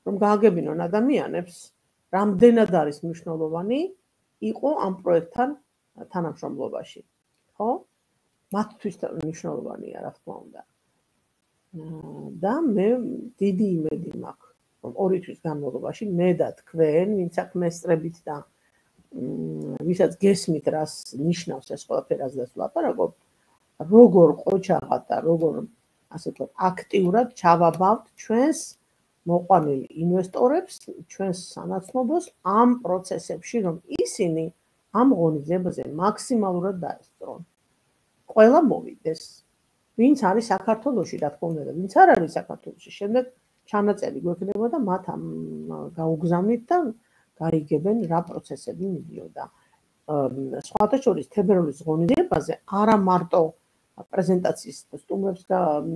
რომ გააგებინონ ადამიანებს, რამდენად არის მნიშვნელოვანი იყო ამ პროექტთან თანამშრომლობაში. ხო? მათთვის მნიშვნელოვანია, რა თქმა უნდა. და მე დიდი იმედი მაქვს, რომ ორი თვის განმავლობაში მე და თქვენ, ვინც აქ მესწრებით და ვისაც გესმით, რას ნიშნავს ეს ყველაფერი, რაზეც ვლაპარაკობ, როგორ ყოჩაღად და როგორ ასე ვთქვათ, აქტიურად ჩავაბავთ ჩვენს მოყვანილ ინვესტორებს, ჩვენს სანაცნობოს ამ პროცესებში, რომ ისინი ამ ღონისძიებაზე მაქსიმალურად დაესწრონ. ყველა მოვიდეს. ვინც არის საქართველოში, რა თქმა უნდა, ვინც არ არის საქართველოში, შემდეგ ჩანაწერი გვექნება და მათ ამ გაუგზავნით და გაიგებენ რა პროცესები მიდიოდა. სხვათა შორის თებერვლის ღონისძიებაზე არა მარტო პრეზენტაციის სტუმრებს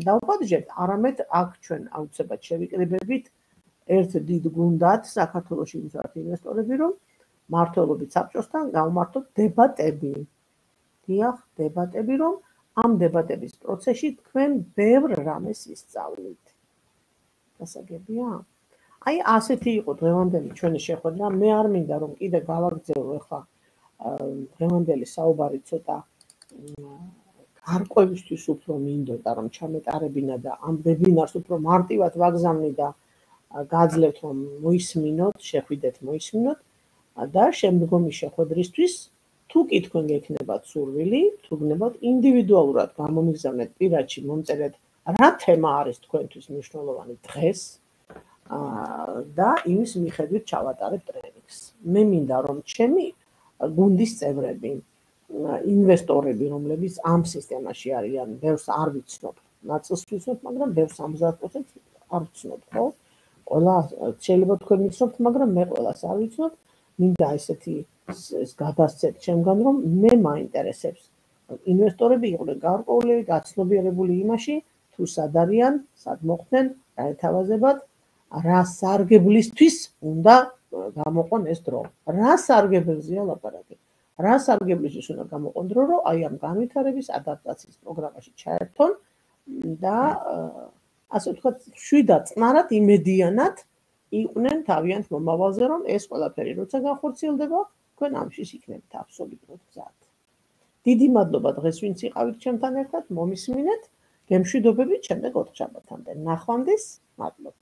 დავუპატიჟებთ, არამედ აქ ჩვენ აუცილებლად შევიკრიბებით ერთ დიდ გუნდად საქართველოში ვინც ვართ ინვესტორები, რომ მმართველობით საბჭოსთან გავმართოთ დებატები. დიახ, დებატები, რომ ამ დებატების პროცესში თქვენ ბევრ რამეს ისწავლით. გასაგებია? აი ასეთი იყო დღევანდელი ჩვენი შეხვედრა. მე არ მინდა რომ კიდე გავაგრძელო ახლა დღევანდელი საუბარი ცოტა გარკვევისთვის უფრო მინდოდა რომ ჩამეტარებინა და ამ ვებინარს უფრო მარტივად ვაგზავნი და გაძლევთ რომ მოისმინოთ, შეხვიდეთ, მოისმინოთ და შემდგომი შეხვედრისთვის თუ კი თქვენ გექნებათ სურვილი, თუ გნებათ ინდივიდუალურად გამომიგზავნეთ პირადში მომწერეთ რა თემა არის თქვენთვის მნიშვნელოვანი დღეს და იმის მიხედვით ჩავატარებ ტრენინგს. მე მინდა რომ ჩემი გუნდის წევრები, ინვესტორები, რომლებიც ამ სისტემაში არიან, ბევრს არ ვიცნობ, ნაწილს ვიცნობ, მაგრამ ბევრს ორმოცდაათ პროცენტს არ ვიცნობ, ხო? ყველა შეიძლება თქვენ ვიცნობთ, მაგრამ მე ყველას არ ვიცნობ. მინდა ესეთი გადასცეთ ჩემგან, რომ მე მაინტერესებს ინვესტორები იყვნენ გარკვეული გაცნობიერებული იმაში, თუ სად არიან, სად მოხდნენ, რა ეთავაზებათ, რა სარგებლისთვის უნდა გამოყონ ეს დრო. რა სარგებელზეა ლაპარაკი? რა სარგებლისთვის უნდა გამოყონ დრო, რომ აი ამ განვითარების ადაპტაციის პროგრამაში ჩაერთონ და ასე ვთქვათ, შვიდად წნარად იმედიანად იყვნენ თავიანთ მომავალზე, რომ ეს ყველაფერი როცა განხორციელდება, თქვენ ამში იქნებით აბსოლუტურად მზად. დიდი მადლობა დღეს ვინც იყავით ჩემთან ერთად, მომისმინეთ, გემშვიდობებით შემდეგ ოთხშაბათამდე. ნახვამდის, მადლობა.